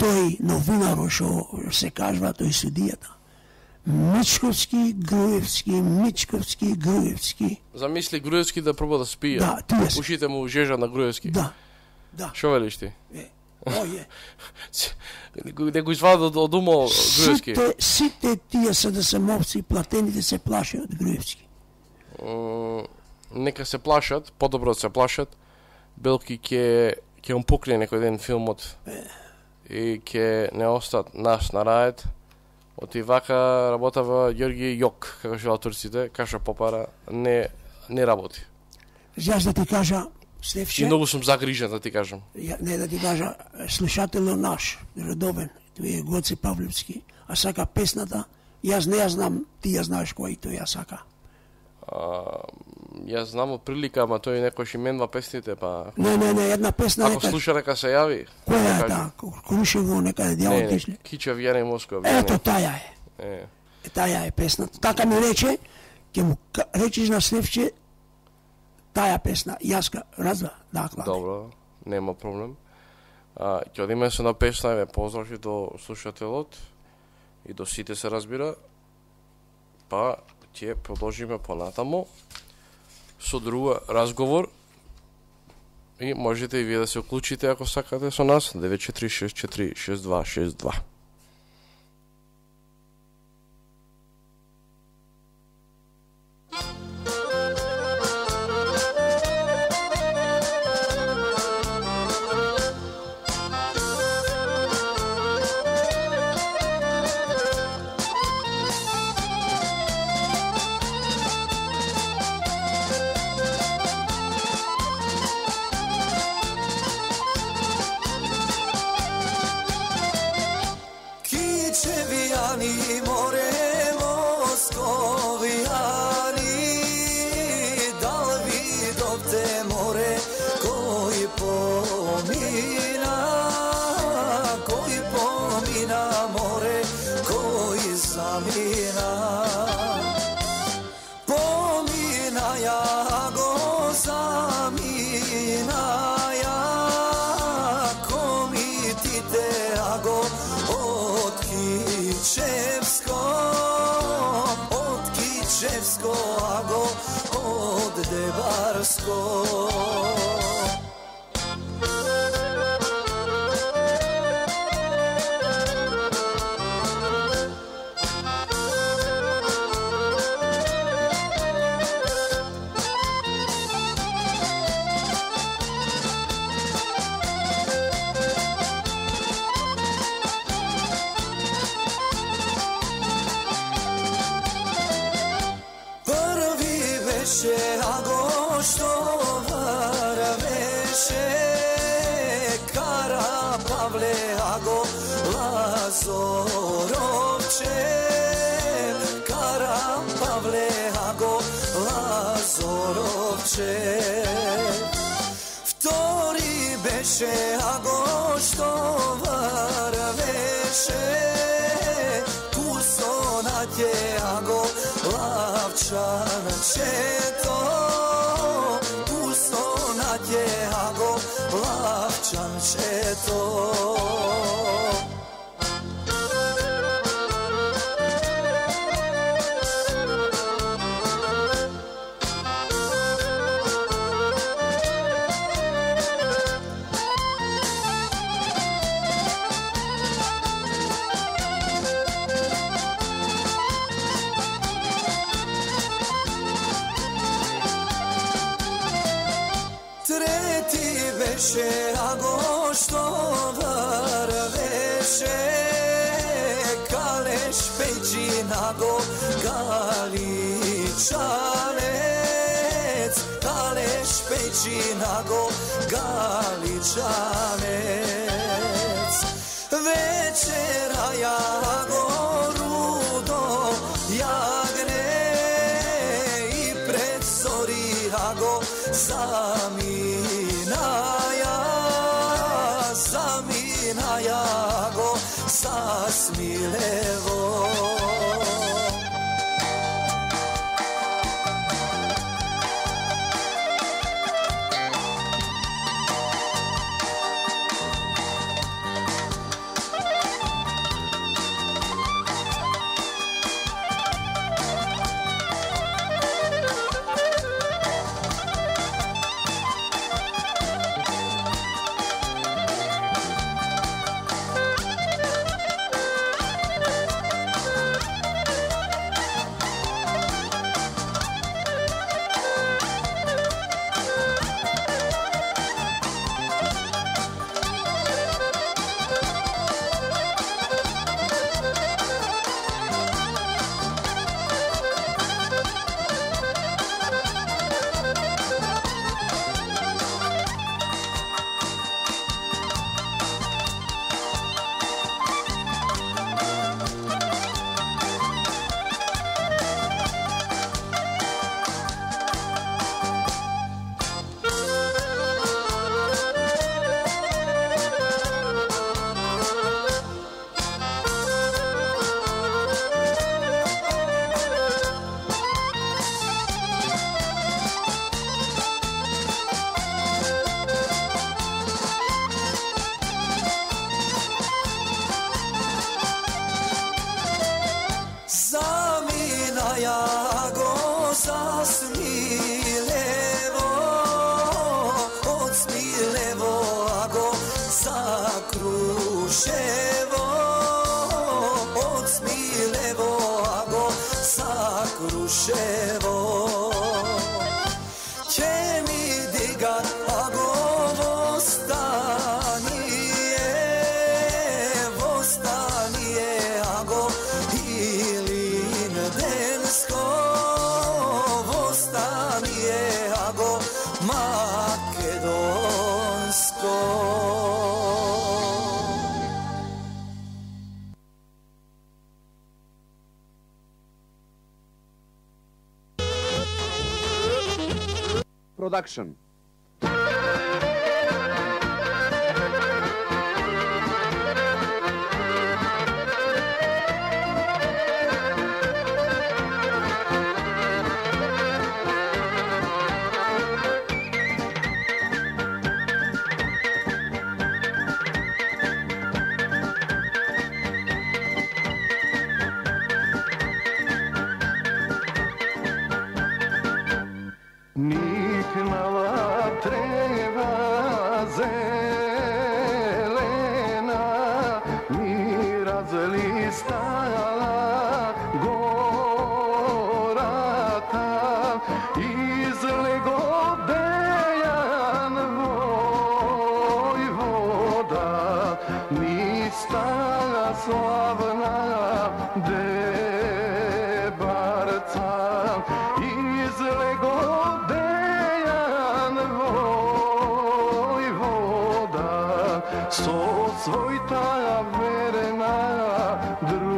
тој новинар што се кажува, тој судијата. Мичковски, Груевски, Мичковски, Груевски. Замисли Груевски да проба да спие. Да, тие се. Ушите му жежа на Груевски. Да, да. Шо велиш ти? Е, ој е. Не го извади од, од умо Груевски. Сите, сите тие се да се мовци, платените се плашат од Груевски. Mm, нека се плашат, подобро да се плашат. Белки ќе ќе он покрие некој ден филмот. Е. И ќе не остат нас на рајет. Оти вака работава Ѓорги Јок, како што турците, каша попара, не не работи. Јас да ти кажа, Стефче... И многу сум загрижен, да ти кажам. Ја, не да ти кажа, слушателот наш, редовен, тој е Гоце Павлевски, а сака песната, јас не ја знам, ти ја знаеш кој тој ја сака. А, јас знам од прилика, ама тој некој именува песните, па... Не, не, не, една песна... Ако слуша, нека се јави. Која е таа? Крушево, некаде дјавот тишли? Не, Кича Вјане Москва. Ето, таја е. Е. Таја е песната. Така ми рече, ќе му речиш на Стефче, таја песна, јаска, разва, да, кладе. Добро, нема проблем. А, ќе одиме со на песна, ве поздрави до слушателот и до сите се разбира. Па ќе продолжиме понатамо со друга разговор и можете и вие да се уклучите ако сакате со нас девет четири шест четири шест два шест два. Prvi veše ago Pavle Ago Lazorovče, Kara Pavle Ago Lazorovče. Vtori beše Ago što varveše, Kusonatje Ago Lavčanče to, Kusonatje Ago Lavčanče to. Ago što varveše, Kaleš Pejčinago Galičanec, Kaleš Pejčinago Galičanec. Večera jago rudo jagne i pred zori jago zaminaja, zaminaja go sasmilevo. Production. со својта верена дружина.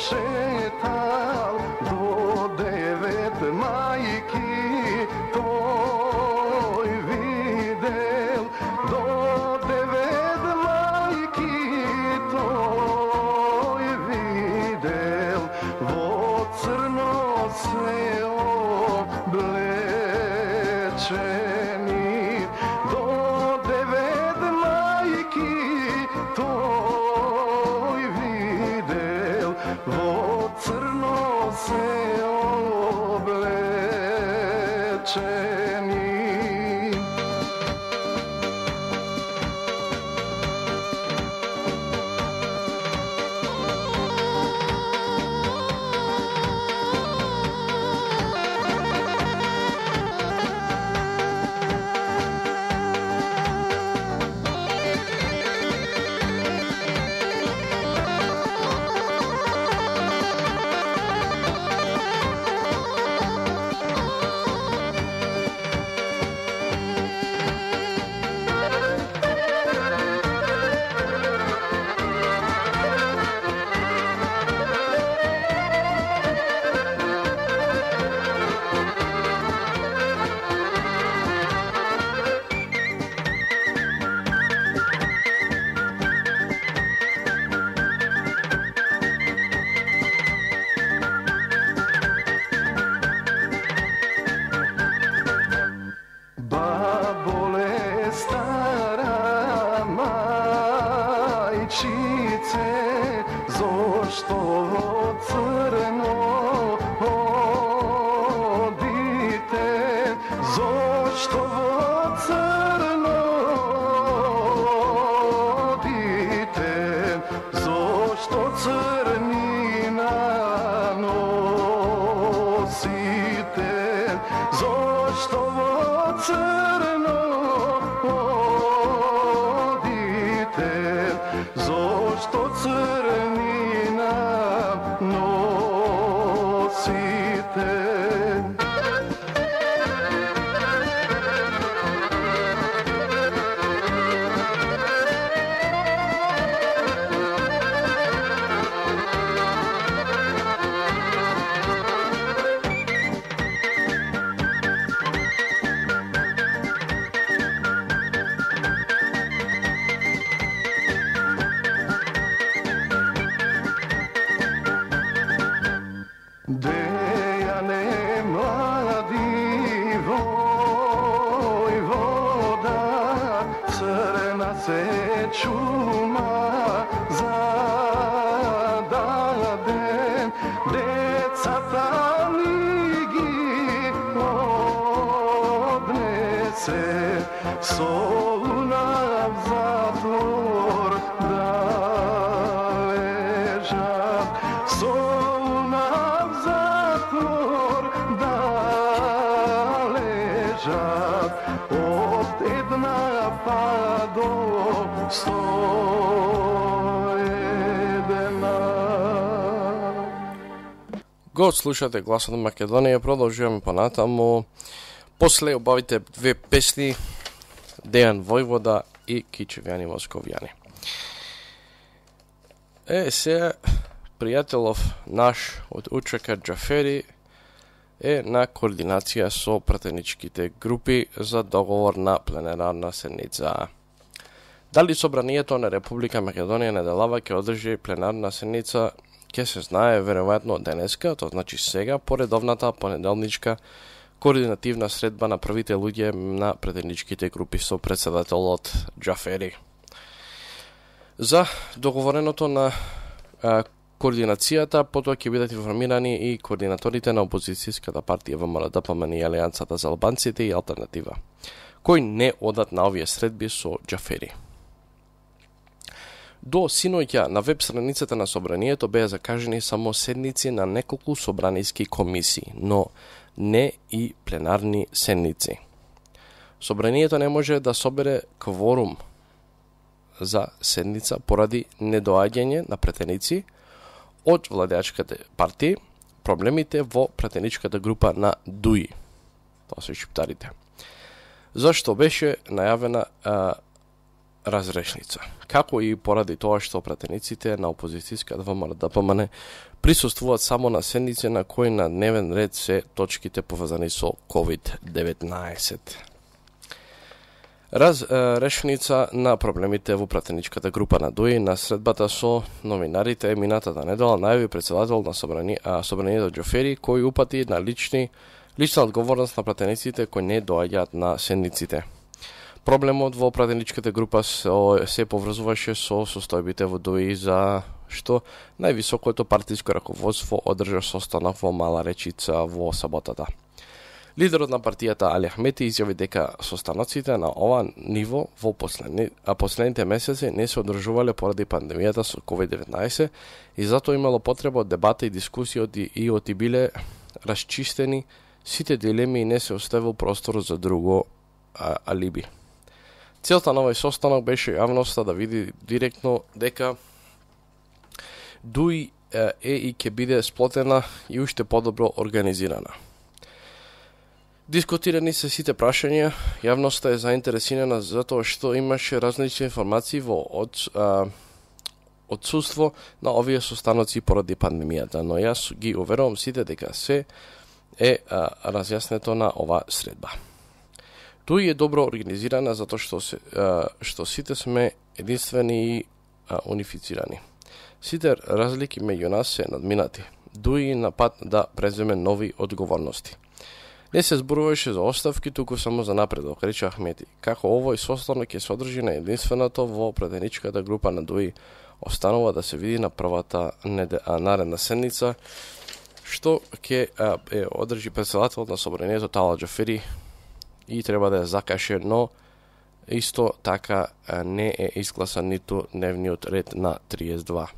Шетал до девет мајки, тој видел, до девет мајки, тој видел, во црно се облечени, до девет мајки, тој видел, во црно се облечени. Зошто во црно одите, зошто во црно одите, зошто црнина носите, зошто во црно одите, зошто црнина носите. Дејане млади војвода, црна се чума зададен, децата ли ги однесе, со луна в затвор да лежат, со луна в затвор да лежат, од една па до сто една. Го слушате гласот на Македонија, продолжуваме понатаму. После обавите две песни, Дејан Војвода и Кичевјани Московјани. Е, се пријателов наш од УЧК Џафери е на координација со пратеничките групи за договор на пленарна седница. Дали собранието на Република Македонија неделава ќе одржи пленарна седница, ќе се знае веројатно денеска, тоа значи сега, по редовната понеделничка координативна средба на првите луѓе на пратеничките групи со председателот Џафери. За договореното на а, координацијата, потоа ќе бидат информирани и координаторите на опозицијската партија ВМРО-ДПМН и Алијансата за албанците и Алтернатива, кои не одат на овие средби со Џафери. До синоќа на веб страницата на собранието беа закажени само седници на неколку собраниски комисии, но не и пленарни седници. Собранието не може да собере кворум за седница поради недоаѓање на претеници од владеачките партии, проблемите во претеничката група на ДУИ, тоа се шиптарите, зашто беше најавена а, разрешница, како и поради тоа што претениците на опозицијската ВМРО-ДПМН присуствуваат само на седници на кои на дневен ред се точките поврзани со ковид деветнаесет. Разрешница на проблемите во пратеничката група на ДУИ на средбата со новинарите минатата недела најави председател на собрани, а, собранието Џафери, кој упати на лични, лична одговорност на пратениците кои не доаѓаат на седниците. Проблемот во пратеничката група се, се поврзуваше со состојбите во ДУИ за што највисокото партиско раководство одржа состанок во Мала Речица во саботата. Лидерот на партијата Али Ахмети изјави дека состаноците на ова ниво во последни, а последните месеци не се одржувале поради пандемијата со ковид деветнаесет и затоа имало потреба од дебата и дискусија и оти биле расчистени сите дилеми и не се оставил простор за друго а, алиби. Целта на овој состанок беше јавноста да види директно дека ДУИ е и ќе биде сплотена и уште подобро организирана. Дискутирани се сите прашања, јавноста е заинтересирана затоа што имаше различни информации во од, а, отсуство на овие состаноци поради пандемијата, но јас ги уверувам сите дека се е а, разјаснето на ова средба. Тој е добро организирана затоа што, се, а, што сите сме единствени и а, унифицирани. Сите разлики меѓу нас се надминати. ДУИ на пат да преземе нови одговорности. Не се зборуваше за оставки, туку само за напредок, рече Ахмети. Како овој состанок ќе се одржи на единственото во претеничката група на ДУИ, останува да се види на првата неде, а, наредна седница, што ќе е одржи председател на собранието Тала Џафери и треба да ја закаже, но исто така а, не е изгласан ниту дневниот ред на триесет и два.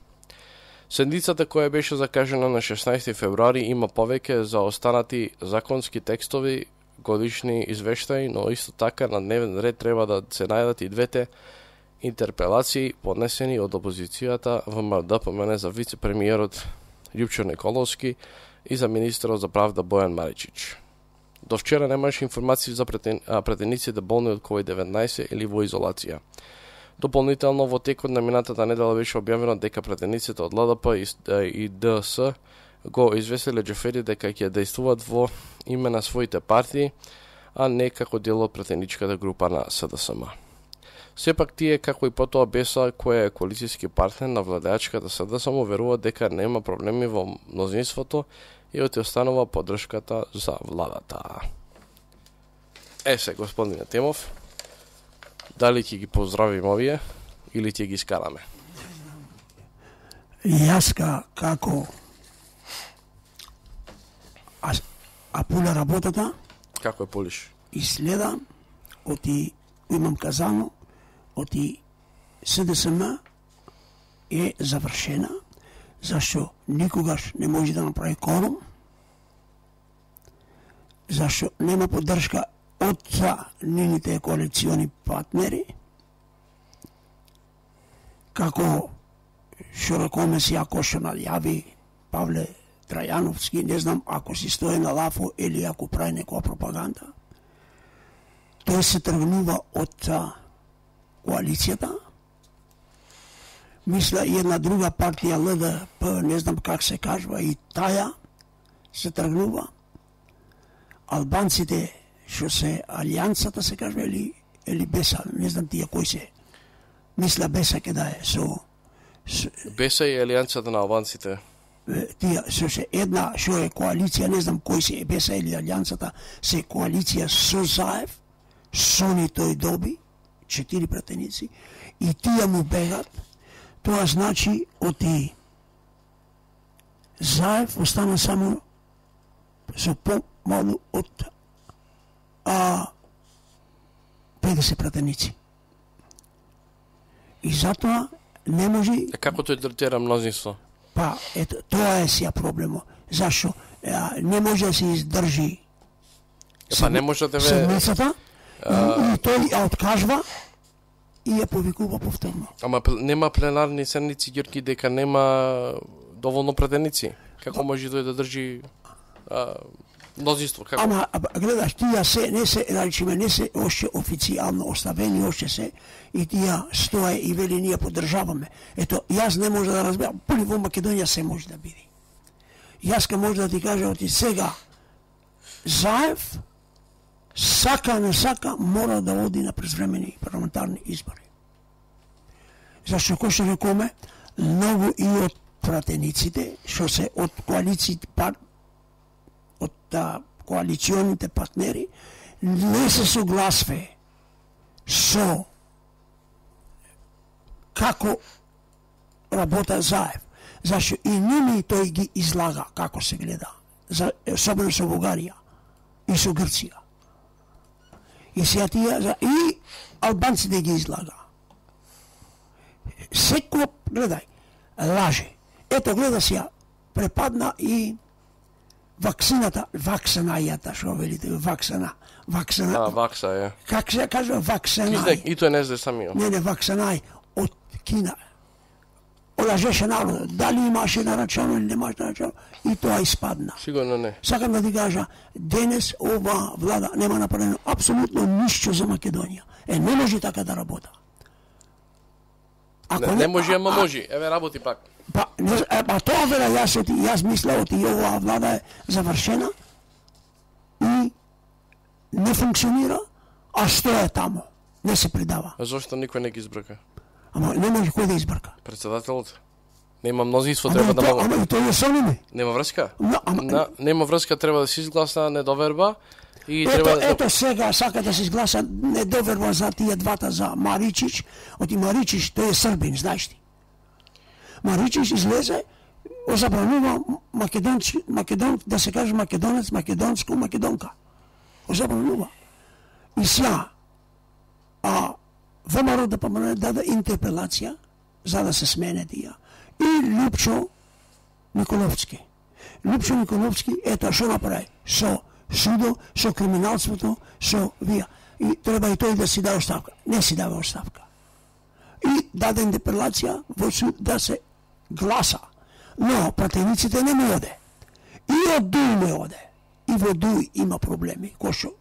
Седницата која беше закажена на шеснаесети февруари има повеќе за останати законски текстови, годишни извештаи, но исто така на дневен ред треба да се најдат и двете интерпелации поднесени од опозицијата ВМРО-ДПМН за вице-премиерот Љупчо Николовски и за министерот за правда Бојан Маричич. До вчера немаше информации за претен... претениците болни од ковид деветнаесет или во изолација. Дополнително во текот на минатата недела беше објавено дека претениците од ЛДП и ДС го известиле Џафери дека ќе действуваат во име на своите партии, а не како дел од претеничката група на СДСМ. Сепак тие, како и потоа БЕСА, која е коалицијски партнер на владеачката СДСМ, веруваат дека нема проблеми во мнозинството и оти останува поддршката за владата. Е се, господине Темов, дали ќе ги поздравим овие или ќе ги скараме? Јаска како а, а пуля работата, како е полиш? И следам, оти имам казано, оти СДСМ е завршена, зашто никогаш не може да направи корум, зашто нема поддршка од нивните коалициони партнери, како што рекоме си, ако што најави Павле Трајановски, не знам ако си стои на лафо или ако прави некоја пропаганда, тој се тргнува од коалицијата. Мисля и една друга партија ЛДП, не знам как се кажува, и таја се тргнува. Албанците што се Алијансата се кажува или, или БЕСА, не знам тие кои се. Мисля БЕСА ке да е со... со БЕСА и Алијансата на албанците. Тие со се една што е коалиција, не знам кои се БЕСА или Алијансата, се коалиција со Заев, Сони тој доби, четири пратеници, и тие му бегат. Тоа значи оти Заев остана само со помалу од а, педесет пратеници. И затоа не може... А како тој третира мнозинство? Па, ето, тоа е сија проблемо. Зашо? А, не може да се издржи Па не може да ве... седмицата, и, и тој ја откажва и ја повикува повторно. Ама нема пленарни седници, Ѓорги, дека нема доволно пратеници. Како може тој да држи а, мнозинство? Како? Ама, гледаш, тие се, не се, речеме, не се още официјално оставени, още се, и тие стое и вели ние поддржаваме. Ето, јас не може да разберам, пули во Македонија се може да биде. Јас ка може да ти кажа, оти сега, Заев, сака не сака, мора да оди на презвремени парламентарни избори. Зашто, кој што рекоме, многу и од пратениците, што се од коалициите, пар, од а, коалиционите партнери, не се согласве со како работа Заев. Зашто и ними тој ги излага како се гледа, за, особено со Бугарија и со Грција. И сега тие, и албанците ги излага. Секој, гледај, лаже. Ето, гледа сега, препадна и вакцината, вакцинајата, што велите, вакцина, вакцина. А, вакса е. Как се кажа вакцинај? Ти и тој не знае самиот. Не, не, вакцинај од Кина. Олажеше народот, дали имаше нарачано или немаше нарачано, и тоа испадна. Сигурно не. Сакам да ти кажа, денес ова влада нема направено апсолутно ништо за Македонија. Е, не може така да работа. Не, не, не може, ама може. Еве работи пак. Па, не, е, па тоа вера јас оти, јас мисля оти оваа влада е завршена и не функционира, а што е тамо? Не се придава. А зошто никој не ги избрка? Ама не може кој да избрка. Председателот. Нема мнозинство, Ама треба и да то- могат. ама и тој е со ними. Нема врска? Но, ама- На, нема врска, треба да се изгласа недоверба и Ето, треба да... ето сега сака да се изгласа недоверба за тие двата, за Маричич. Оти Маричич, тој е србин, знаеш ти. Маричич излезе, озабранува македонски, македон, да се каже македонец, македонско, македонка. Озабранува. И сега, а ВМРО да помне даде интерпелација за да се смене тие. И Лјупчо Николовски. Лјупчо Николовски, ето што направи со судо, со криминалството, со вија. И треба и тој да си даде оставка. Не си даде оставка. И даде интерпелација во суд да се гласа. Но пратениците не му оде. И од Дуј не оде. И во Дуј има проблеми, кој што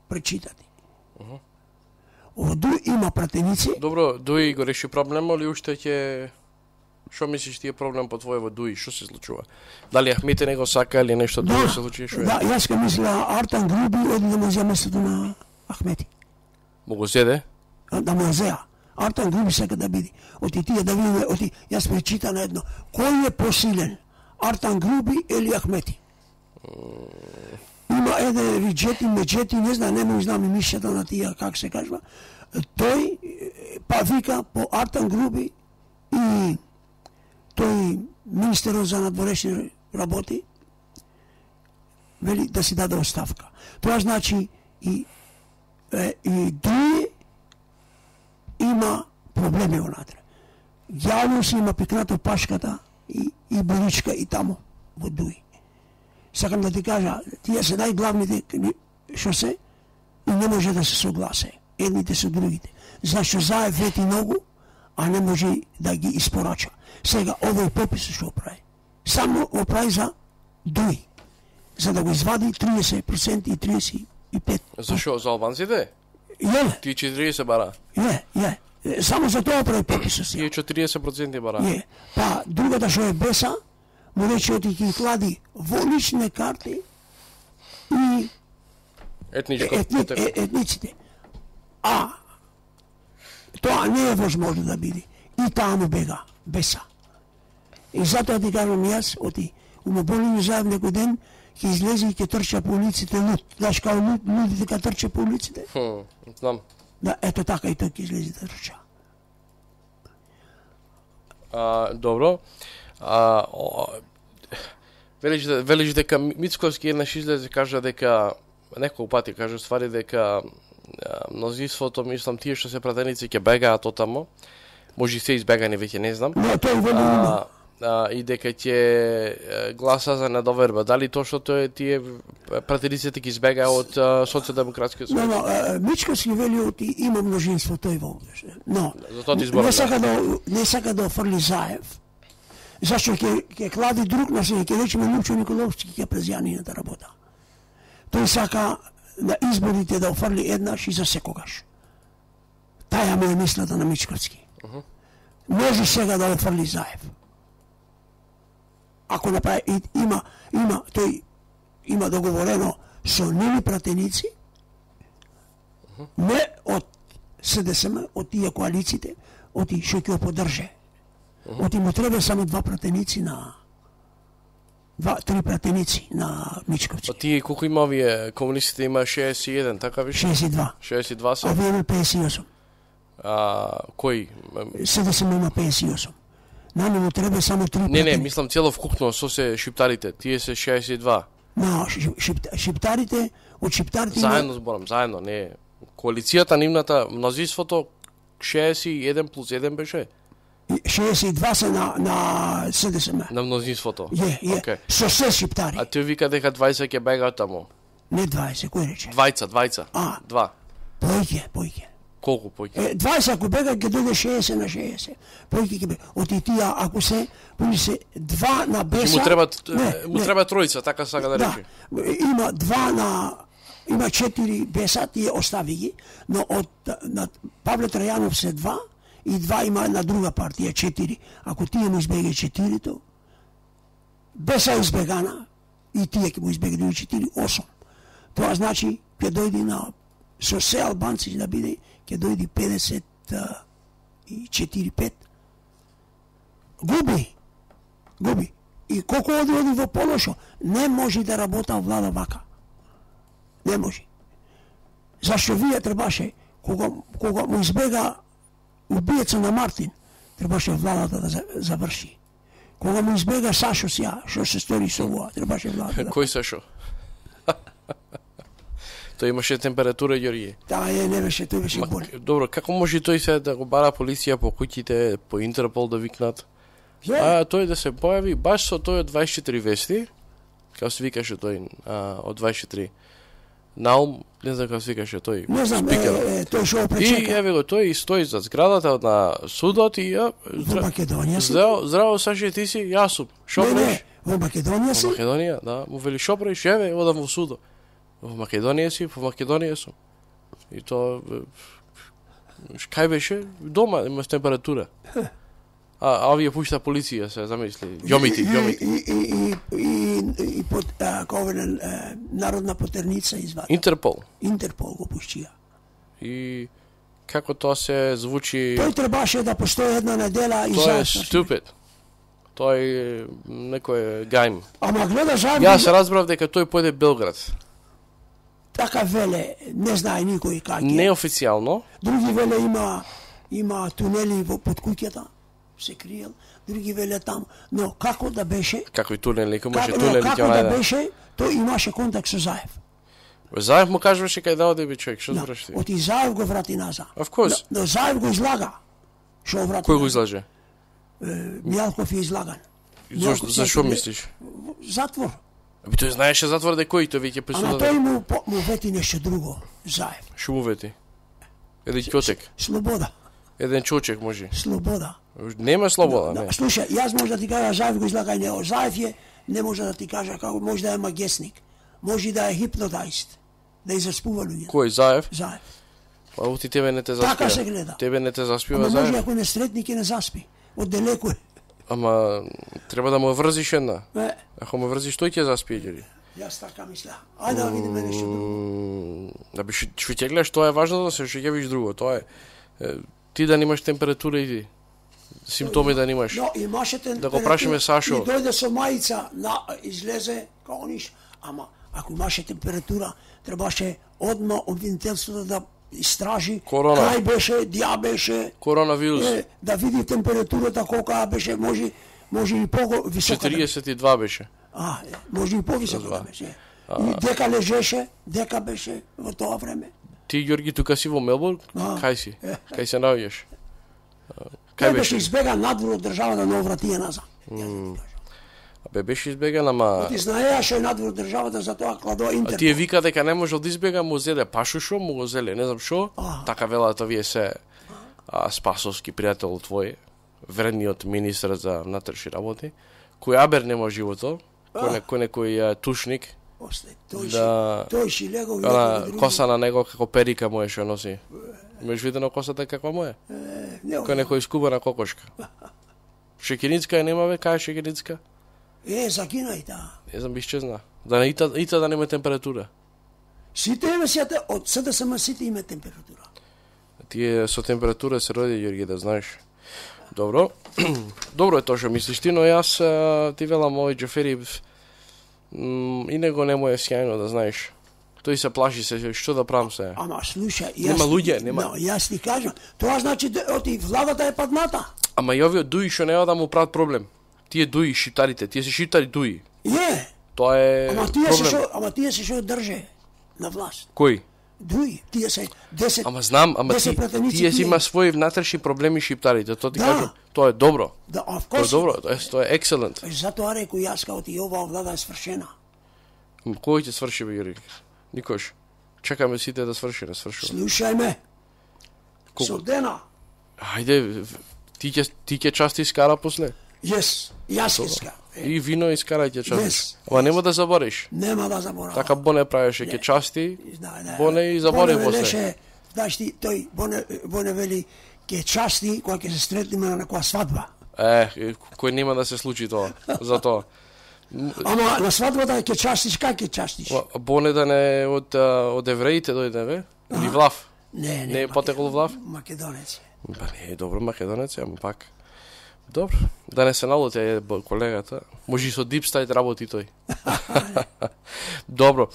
пречитати. Во Дуј има пратеници. Добро, Дуи го реши проблемот или уште ќе... Што мислиш ти е проблем по твој во Дуи? Што се случува? Дали Ахмете не го сака или нешто друго се случи? Шо е? Да, јас ка мисля Артан Груби оди да му зеа местото на Ахмети. Му го зеде? Да му зеа. Артан Груби сака да биде. Оти тие да видиме, оти јас пречита на едно. Кој е посилен? Артан Груби или Ахмети? Има еден Риджети, Меджети, не знам, не му знам и мишјата на тие, как се кажува. Тој па вика по Артан Груби и тој министерот за надворешни работи вели да си даде оставка. Тоа значи и е, и Дуи има проблеми внатре. Јавно си има пикнато пашката и, и Боричка и тамо во Дуи. Сакам да ти кажа, тие се најглавните што се и не може да се согласе едните со другите. Зашто Заев вети многу, а не може да ги испорача. Сега овој попис што прави. Само го прави за Дуи. За да го извади триесет проценти и триесет и пет проценти. Зашо? За албанците? Је. Ти четириесет бара. Је, је. Само за тоа прави пописот си. Тие четириесет проценти бара. Је. Па другата што е Беса, му рече оти ги клади во лични карти и Етничко. етни, е, етниците. А тоа не е возможно да биде. И таа му бега, Беса. И затоа ти кажам јас, оти, умоболени Заев некој ден, ќе излезе и ќе трча по улиците луд. Знаеш као луд, лудите ка трча по улиците? Хм, знам. Да, ето така и тој ќе излезе да трча. А, добро. А, о, Велиш, велиш дека Мицковски еднаш излезе кажа дека неколку пати кажа ствари дека мнозинството, мислам, тие што се пратеници ќе бегаат отамо. Може и се избегани, веќе не знам. Не, тој вели а, а, и дека ќе гласа за недоверба. Дали точно тоа тие пратениците ќе избегаа од социјалдемократскиот сојуз? Но, но, Мичковски вели оти има множинство тој во. Но, не сака да не сака да офрли Заев. Зашто ќе ќе клади друг на себе, ќе речеме Лупчо Николовски ќе презјанината работа. Тој сака на изборите да офрли еднаш и за секогаш. Таја му е мислата на Мичковски. Uh -huh. Може сега да офрли Заев. Ако направи, има, има, тој има договорено со нивни пратеници, uh -huh. не од СДСМ, од тие коалициите, од тие што ќе поддрже. Uh -huh. Оти му треба само два пратеници на два, три пратеници на Мичковци. А тие колку има овие комунистите има шеесет и еден, така више? шеесет и два. шеесет и два се. А овие има пеесет и осум. А кој? СДСМ има пеесет и осум. На нему треба само три пратеници. Не, не, мислам цело вкупно со се шиптарите, тие се шеесет и два. На шип, шиптарите, од шиптарите заедно зборам, заедно, не. Коалицијата нивната, мнозинството шеесет и еден плюс еден беше. шеесет и два се на, на СДСМ. На мнозинството? Е, е, okay. Со се шиптари. А тој вика дека дваесет ќе бегаат тамо? Не дваесет, кој рече? Двајца, двајца. А, два. Појќе, појќе. Колку појќе? Е, дваесет ако бега, ќе дојде шеесет на шеесет. Појќе ќе бега. Оти тија, ако се, појќе се два на Беса... Му треба, не, му треба тројца, така сака да, да рече. Има два на... Има четири Беса, тие остави ги, но од на Павле Трајанов се два, и два има една друга партија, четири. Ако тие му избеге четирито, Беса избегана, и тие ќе му избеге други четири, осум. Тоа значи, ќе дојде на, со се албанци да биде, ќе дојде педесет и четири пет. Губи. Губи. И колку оди оди во полошо, не може да работа влада вака. Не може. Зашто вие требаше, кога, кога му избега убиеца на Мартин, требаше владата да заврши. Кога му избега Сашо сја, што се стори со ова, требаше владата да... Кој Сашо? Тој имаше температура, Ѓорѓе. Да, е, не беше, тој беше болен. Добро, како може тој се да го бара полиција по куќите, по Интерпол да викнат? Yeah. А тој да се појави баш со тој од дваесет и четири вести, како се викаше тој а, од дваесет и четири. Наум, не знам како се викаше тој. Не знам, е, е, тој шо пречека. И еве го тој стои за зградата на судот и ја... Во Македонија си? Здраво, здраво Саше, ти си Јасуп. Шо не, правиш? Не, во Македонија си? Во Македонија, да. Му вели шо правиш? Еве, одам во судот. Во Македонија си, во Македонија сум. И то... Кај беше? Дома, имаш температура. А, а овие пушта полиција се замисли. Ѓомити, ѓомити. И, и, и, и, и под, а, ковен, а, народна потерница извади. Интерпол. Интерпол го пушчија. И како тоа се звучи... Тој требаше да постои една недела и Тоа е заедно. stupid. Тој некој гајм. Ама гледа жави... Јас се разбрав дека тој појде Белград. Така веле, не знае никој како. Неофицијално. Други веле има има тунели во под куќата, се криел, други веле таму. Но како да беше? Какви тунели, како може како, тунели како ќе да беше, тој имаше контакт со Заев. Заев му кажуваше кај да оди би човек, што да, збораш ти? Оти Заев го врати назад. Of course. Но, но Заев го излага. Што врати? Кој го излаже? Мјалков е излаган. Зошто, зашо мислиш? Затвор. Би тој знаеше затвор дека кој тој веќе присуда. Ама тој му, му вети нешто друго, Заев. Што му вети? Еден ќотек. Слобода. Еден чочек може. Слобода. Нема слобода, да, не. Да, слушај, јас може да ти кажа Заев го излага и него. Заев е, не може да ти кажа како може да е магесник. Може да е хипнотаист. Да изаспува луѓе. Кој Заев? Заев. Па ути тебе не те заспива. Така се гледа. Тебе не те заспива Ама Заев. може ако не сретни ќе не заспи. Од далеку е. Ама треба да му врзиш една. Не. Ако му врзиш тој ќе заспие ѓери. Јас така мисля. Ајде да видиме нешто друго. Да би што ќе гледаш, тоа е важно да се што ќе видиш друго. Тоа е ти да немаш температура и ти. Симптоми да немаш. Но имаше температура. Да го прашиме Сашо. И дојде со мајца, на излезе како ниш. Ама ако имаше температура, требаше одма обвинителството да истражи Корона. Кај беше, диа беше. Коронавирус. Е, да види температурата колка беше, може може и пого висока. четириесет и два беше. А, може и повисоко да беше. И дека лежеше, дека беше во тоа време. Ти, Ѓорги, тука си во Мелбурн? Кај си? Кај се наоѓаш? Кај беше избеган надвор од државата, но вратија назад. Абе, беше избеган, ама... Ти знаеаше надвор од државата, за тоа кладо Интерпол. А тие вика дека не можел да избега, му зеле пашушо, му го зеле, не знам шо. Така велат овие се а, спасовски пријател твој, вредниот министр за внатрешни работи, кој абер нема живото, кој, кој некој тушник, После, тој да, си, тој си легол, на коса на него како перика му е што носи. Имаш видено косата каква му е? Кој некој скубана кокошка. Шекиницка е нема, бе, кај е шекиницка? Е, загина и таа. Не знам, исчезна. Да не ита, ита да нема температура. Сите емисијата од СДСМ сите има температура. Тие со температура се роди, Ѓорги, да знаеш. Добро. Добро е тоа што мислиш ти, но јас ти велам овој Џафери и него не му е сјајно, да знаеш. Тој се плаши се, што да правам се. Ама слушај, јас нема луѓе, нема. No, јас ти кажам, тоа значи оти владата е падната. Ама и овие дуи што нема да му прават проблем. Тие дуи шиптарите, тие се шиптари дуи. Е. Тоа е ама тие проблем. се шо, ама тие се што држе на власт. Кој? Дуи, тие се десет. Ама знам, ама ти, тие си има своји внатрешни проблеми шиптарите, тоа ти да. кажам, тоа е добро. Да, тоа е добро, тоа е, тоа е excellent. Затоа рекол јас као ти оваа влада е свршена. Кој ќе сврши, бе, Јури? Никош. Чекаме сите да сврши, не свршува. Слушај ме. Судена. Ајде, ти ќе ти ќе части скара после? Јес, јас ќе скара. И вино искарај ќе частиш. Yes. Ама нема да забориш. Нема да заборавам. Така Боне правеше, ќе части. Да, да. Боне и забори Боне после. велеше, знаеш ти, тој Боне, Боне вели ќе части кога ќе се сретнеме на некоја свадба. Е, кој нема да се случи тоа, за тоа. Ама на свадбата ќе частиш, как ќе частиш? Боне да не од од евреите дојде, бе? Или влав? Не, не. Не е потекол влав? Македонец. Ба не е добро македонец, ама пак. Добро, да не се налути колегата. Може и со дипстайт работи тој. Добро.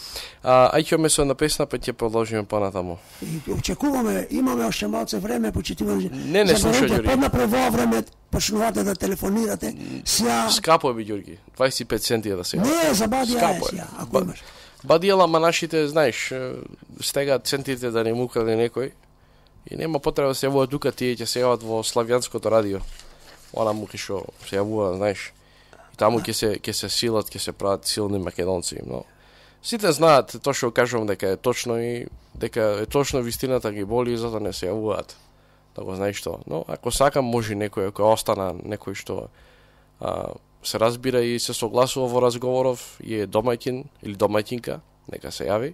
А, ајќеме со на песна, па ќе продолжиме понатаму. И очекуваме, имаме уште малце време, почитуваме. Не, не слушај, Ѓорги. Поднапред во време почнувате да телефонирате. Сија Скапо е, би, Ѓорги. дваесет и пет центи е да се јави. Не, забади ја Скапо сија, ако имаш. Бадиела, ма нашите, знаеш, стегаат центите да не му украде некој. И нема потреба да се јавуваат тука, тие ќе се јават во славјанското радио. Она му што се јавува, знаеш. И таму ќе се ќе се силат, ќе се прават силни македонци, но сите знаат тоа што кажувам дека е точно и дека е точно вистината ги боли и затоа не се јавуваат. Да го знаеш тоа. Но ако сакам може некој ако остана некој што а, се разбира и се согласува во разговоров и е домаќин или домаќинка, нека се јави.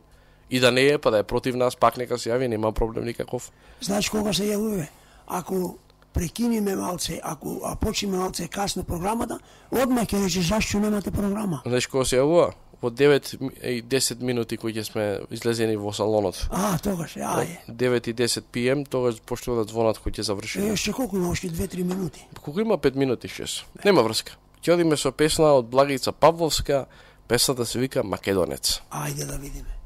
И да не е, па да е против нас, пак нека се јави, нема проблем никаков. Знаеш кога се јавува? Ако прекиниме малце, ако а почнеме малце касно програмата, одма ќе рече зашто немате програма. Знаеш кога се јавува? Во девет и десет минути кои ќе сме излезени во салонот. А, тогаш, аје. девет и десет пи ем, тогаш почнува да звонат кои ќе завршиме. Е, ше колку има, още две-три минути? Колку има пет минути, шест. Нема врска. Ќе одиме со песна од Благица Павловска, песната се вика Македонец. Ајде да видиме.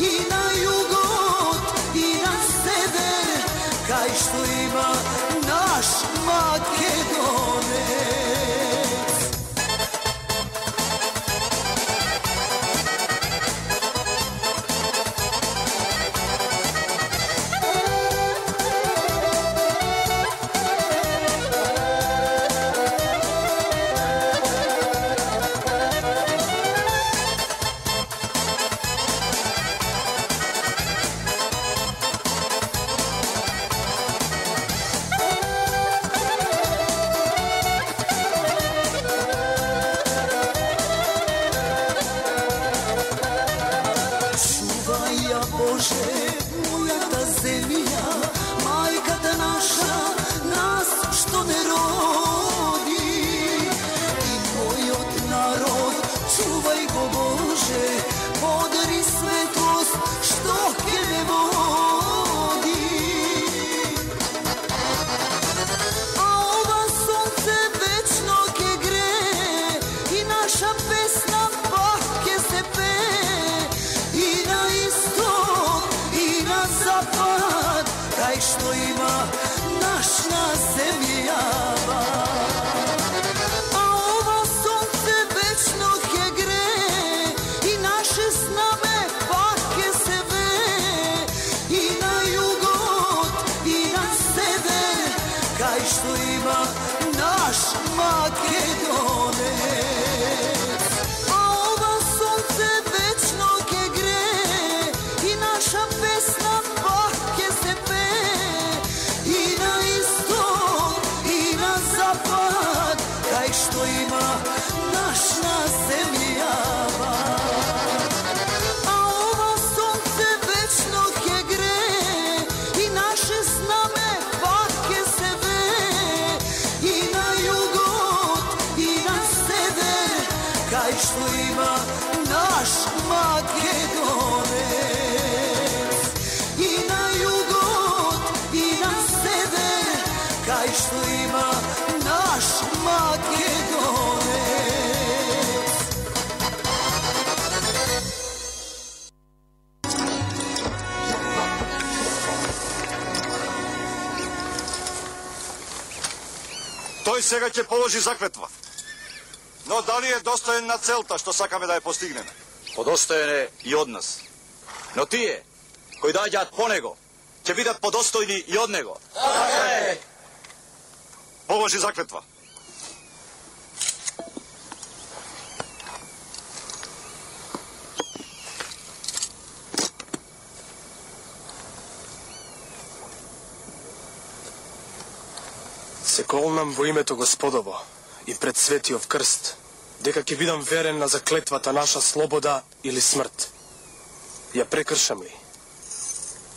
I na jugot, i na sever, што има наш Македонец. И на југот, и на север, кај што има наш Македонец. Тој сега ќе положи заклетва. Но дали е достоен на целта што сакаме да ја постигнеме? Подостоен е и од нас. Но тие кои доаѓаат по него ќе бидат подостојни и од него. Така е. Положи заклетва. Се колнам во името Господово и пред светиот крст, дека ќе бидам верен на заклетвата наша слобода или смрт. Ја прекршам ли?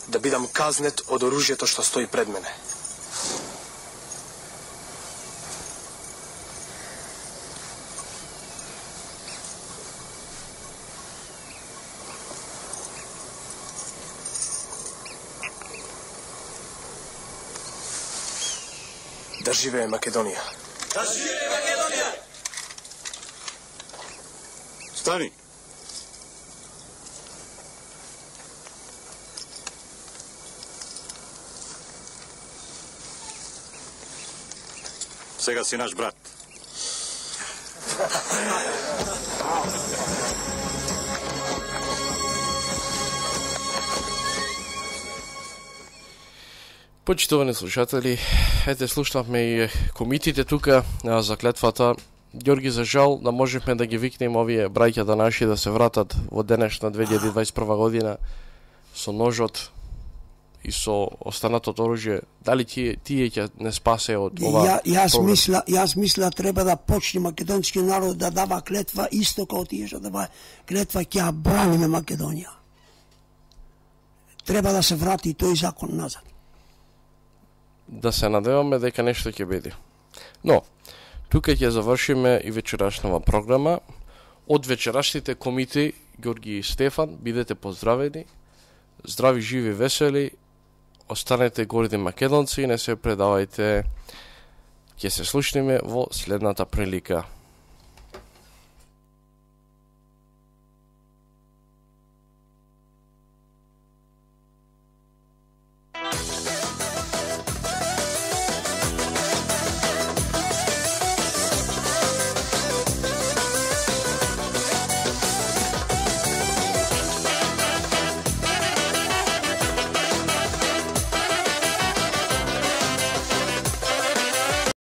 Да бидам казнет од оружјето што стои пред мене. Да живее Македонија! Да живее Македонија! Стани! Сега си наш брат. Почитувани слушатели, ете слушнавме и комитите тука за клетвата. Ѓорги, за жал, да можевме да ги викнем овие браќа да наши да се вратат во денешна две илјади дваесет и прва година со ножот и со останатото оружје. Дали тие тие ќе не спасе од ова? Ја, јас мисла, јас мисла треба да почне македонски народ да дава клетва исто како тие што дава клетва ќе ја браниме Македонија. Треба да се врати тој закон назад. Да се надеваме дека нешто ќе биде. Но, тука ќе завршиме и вечерашнава програма. Од вечерашните комити, Ѓорги и Стефан, бидете поздравени. Здрави, живи, весели. Останете горди македонци и не се предавајте. Ќе се слушнеме во следната прилика.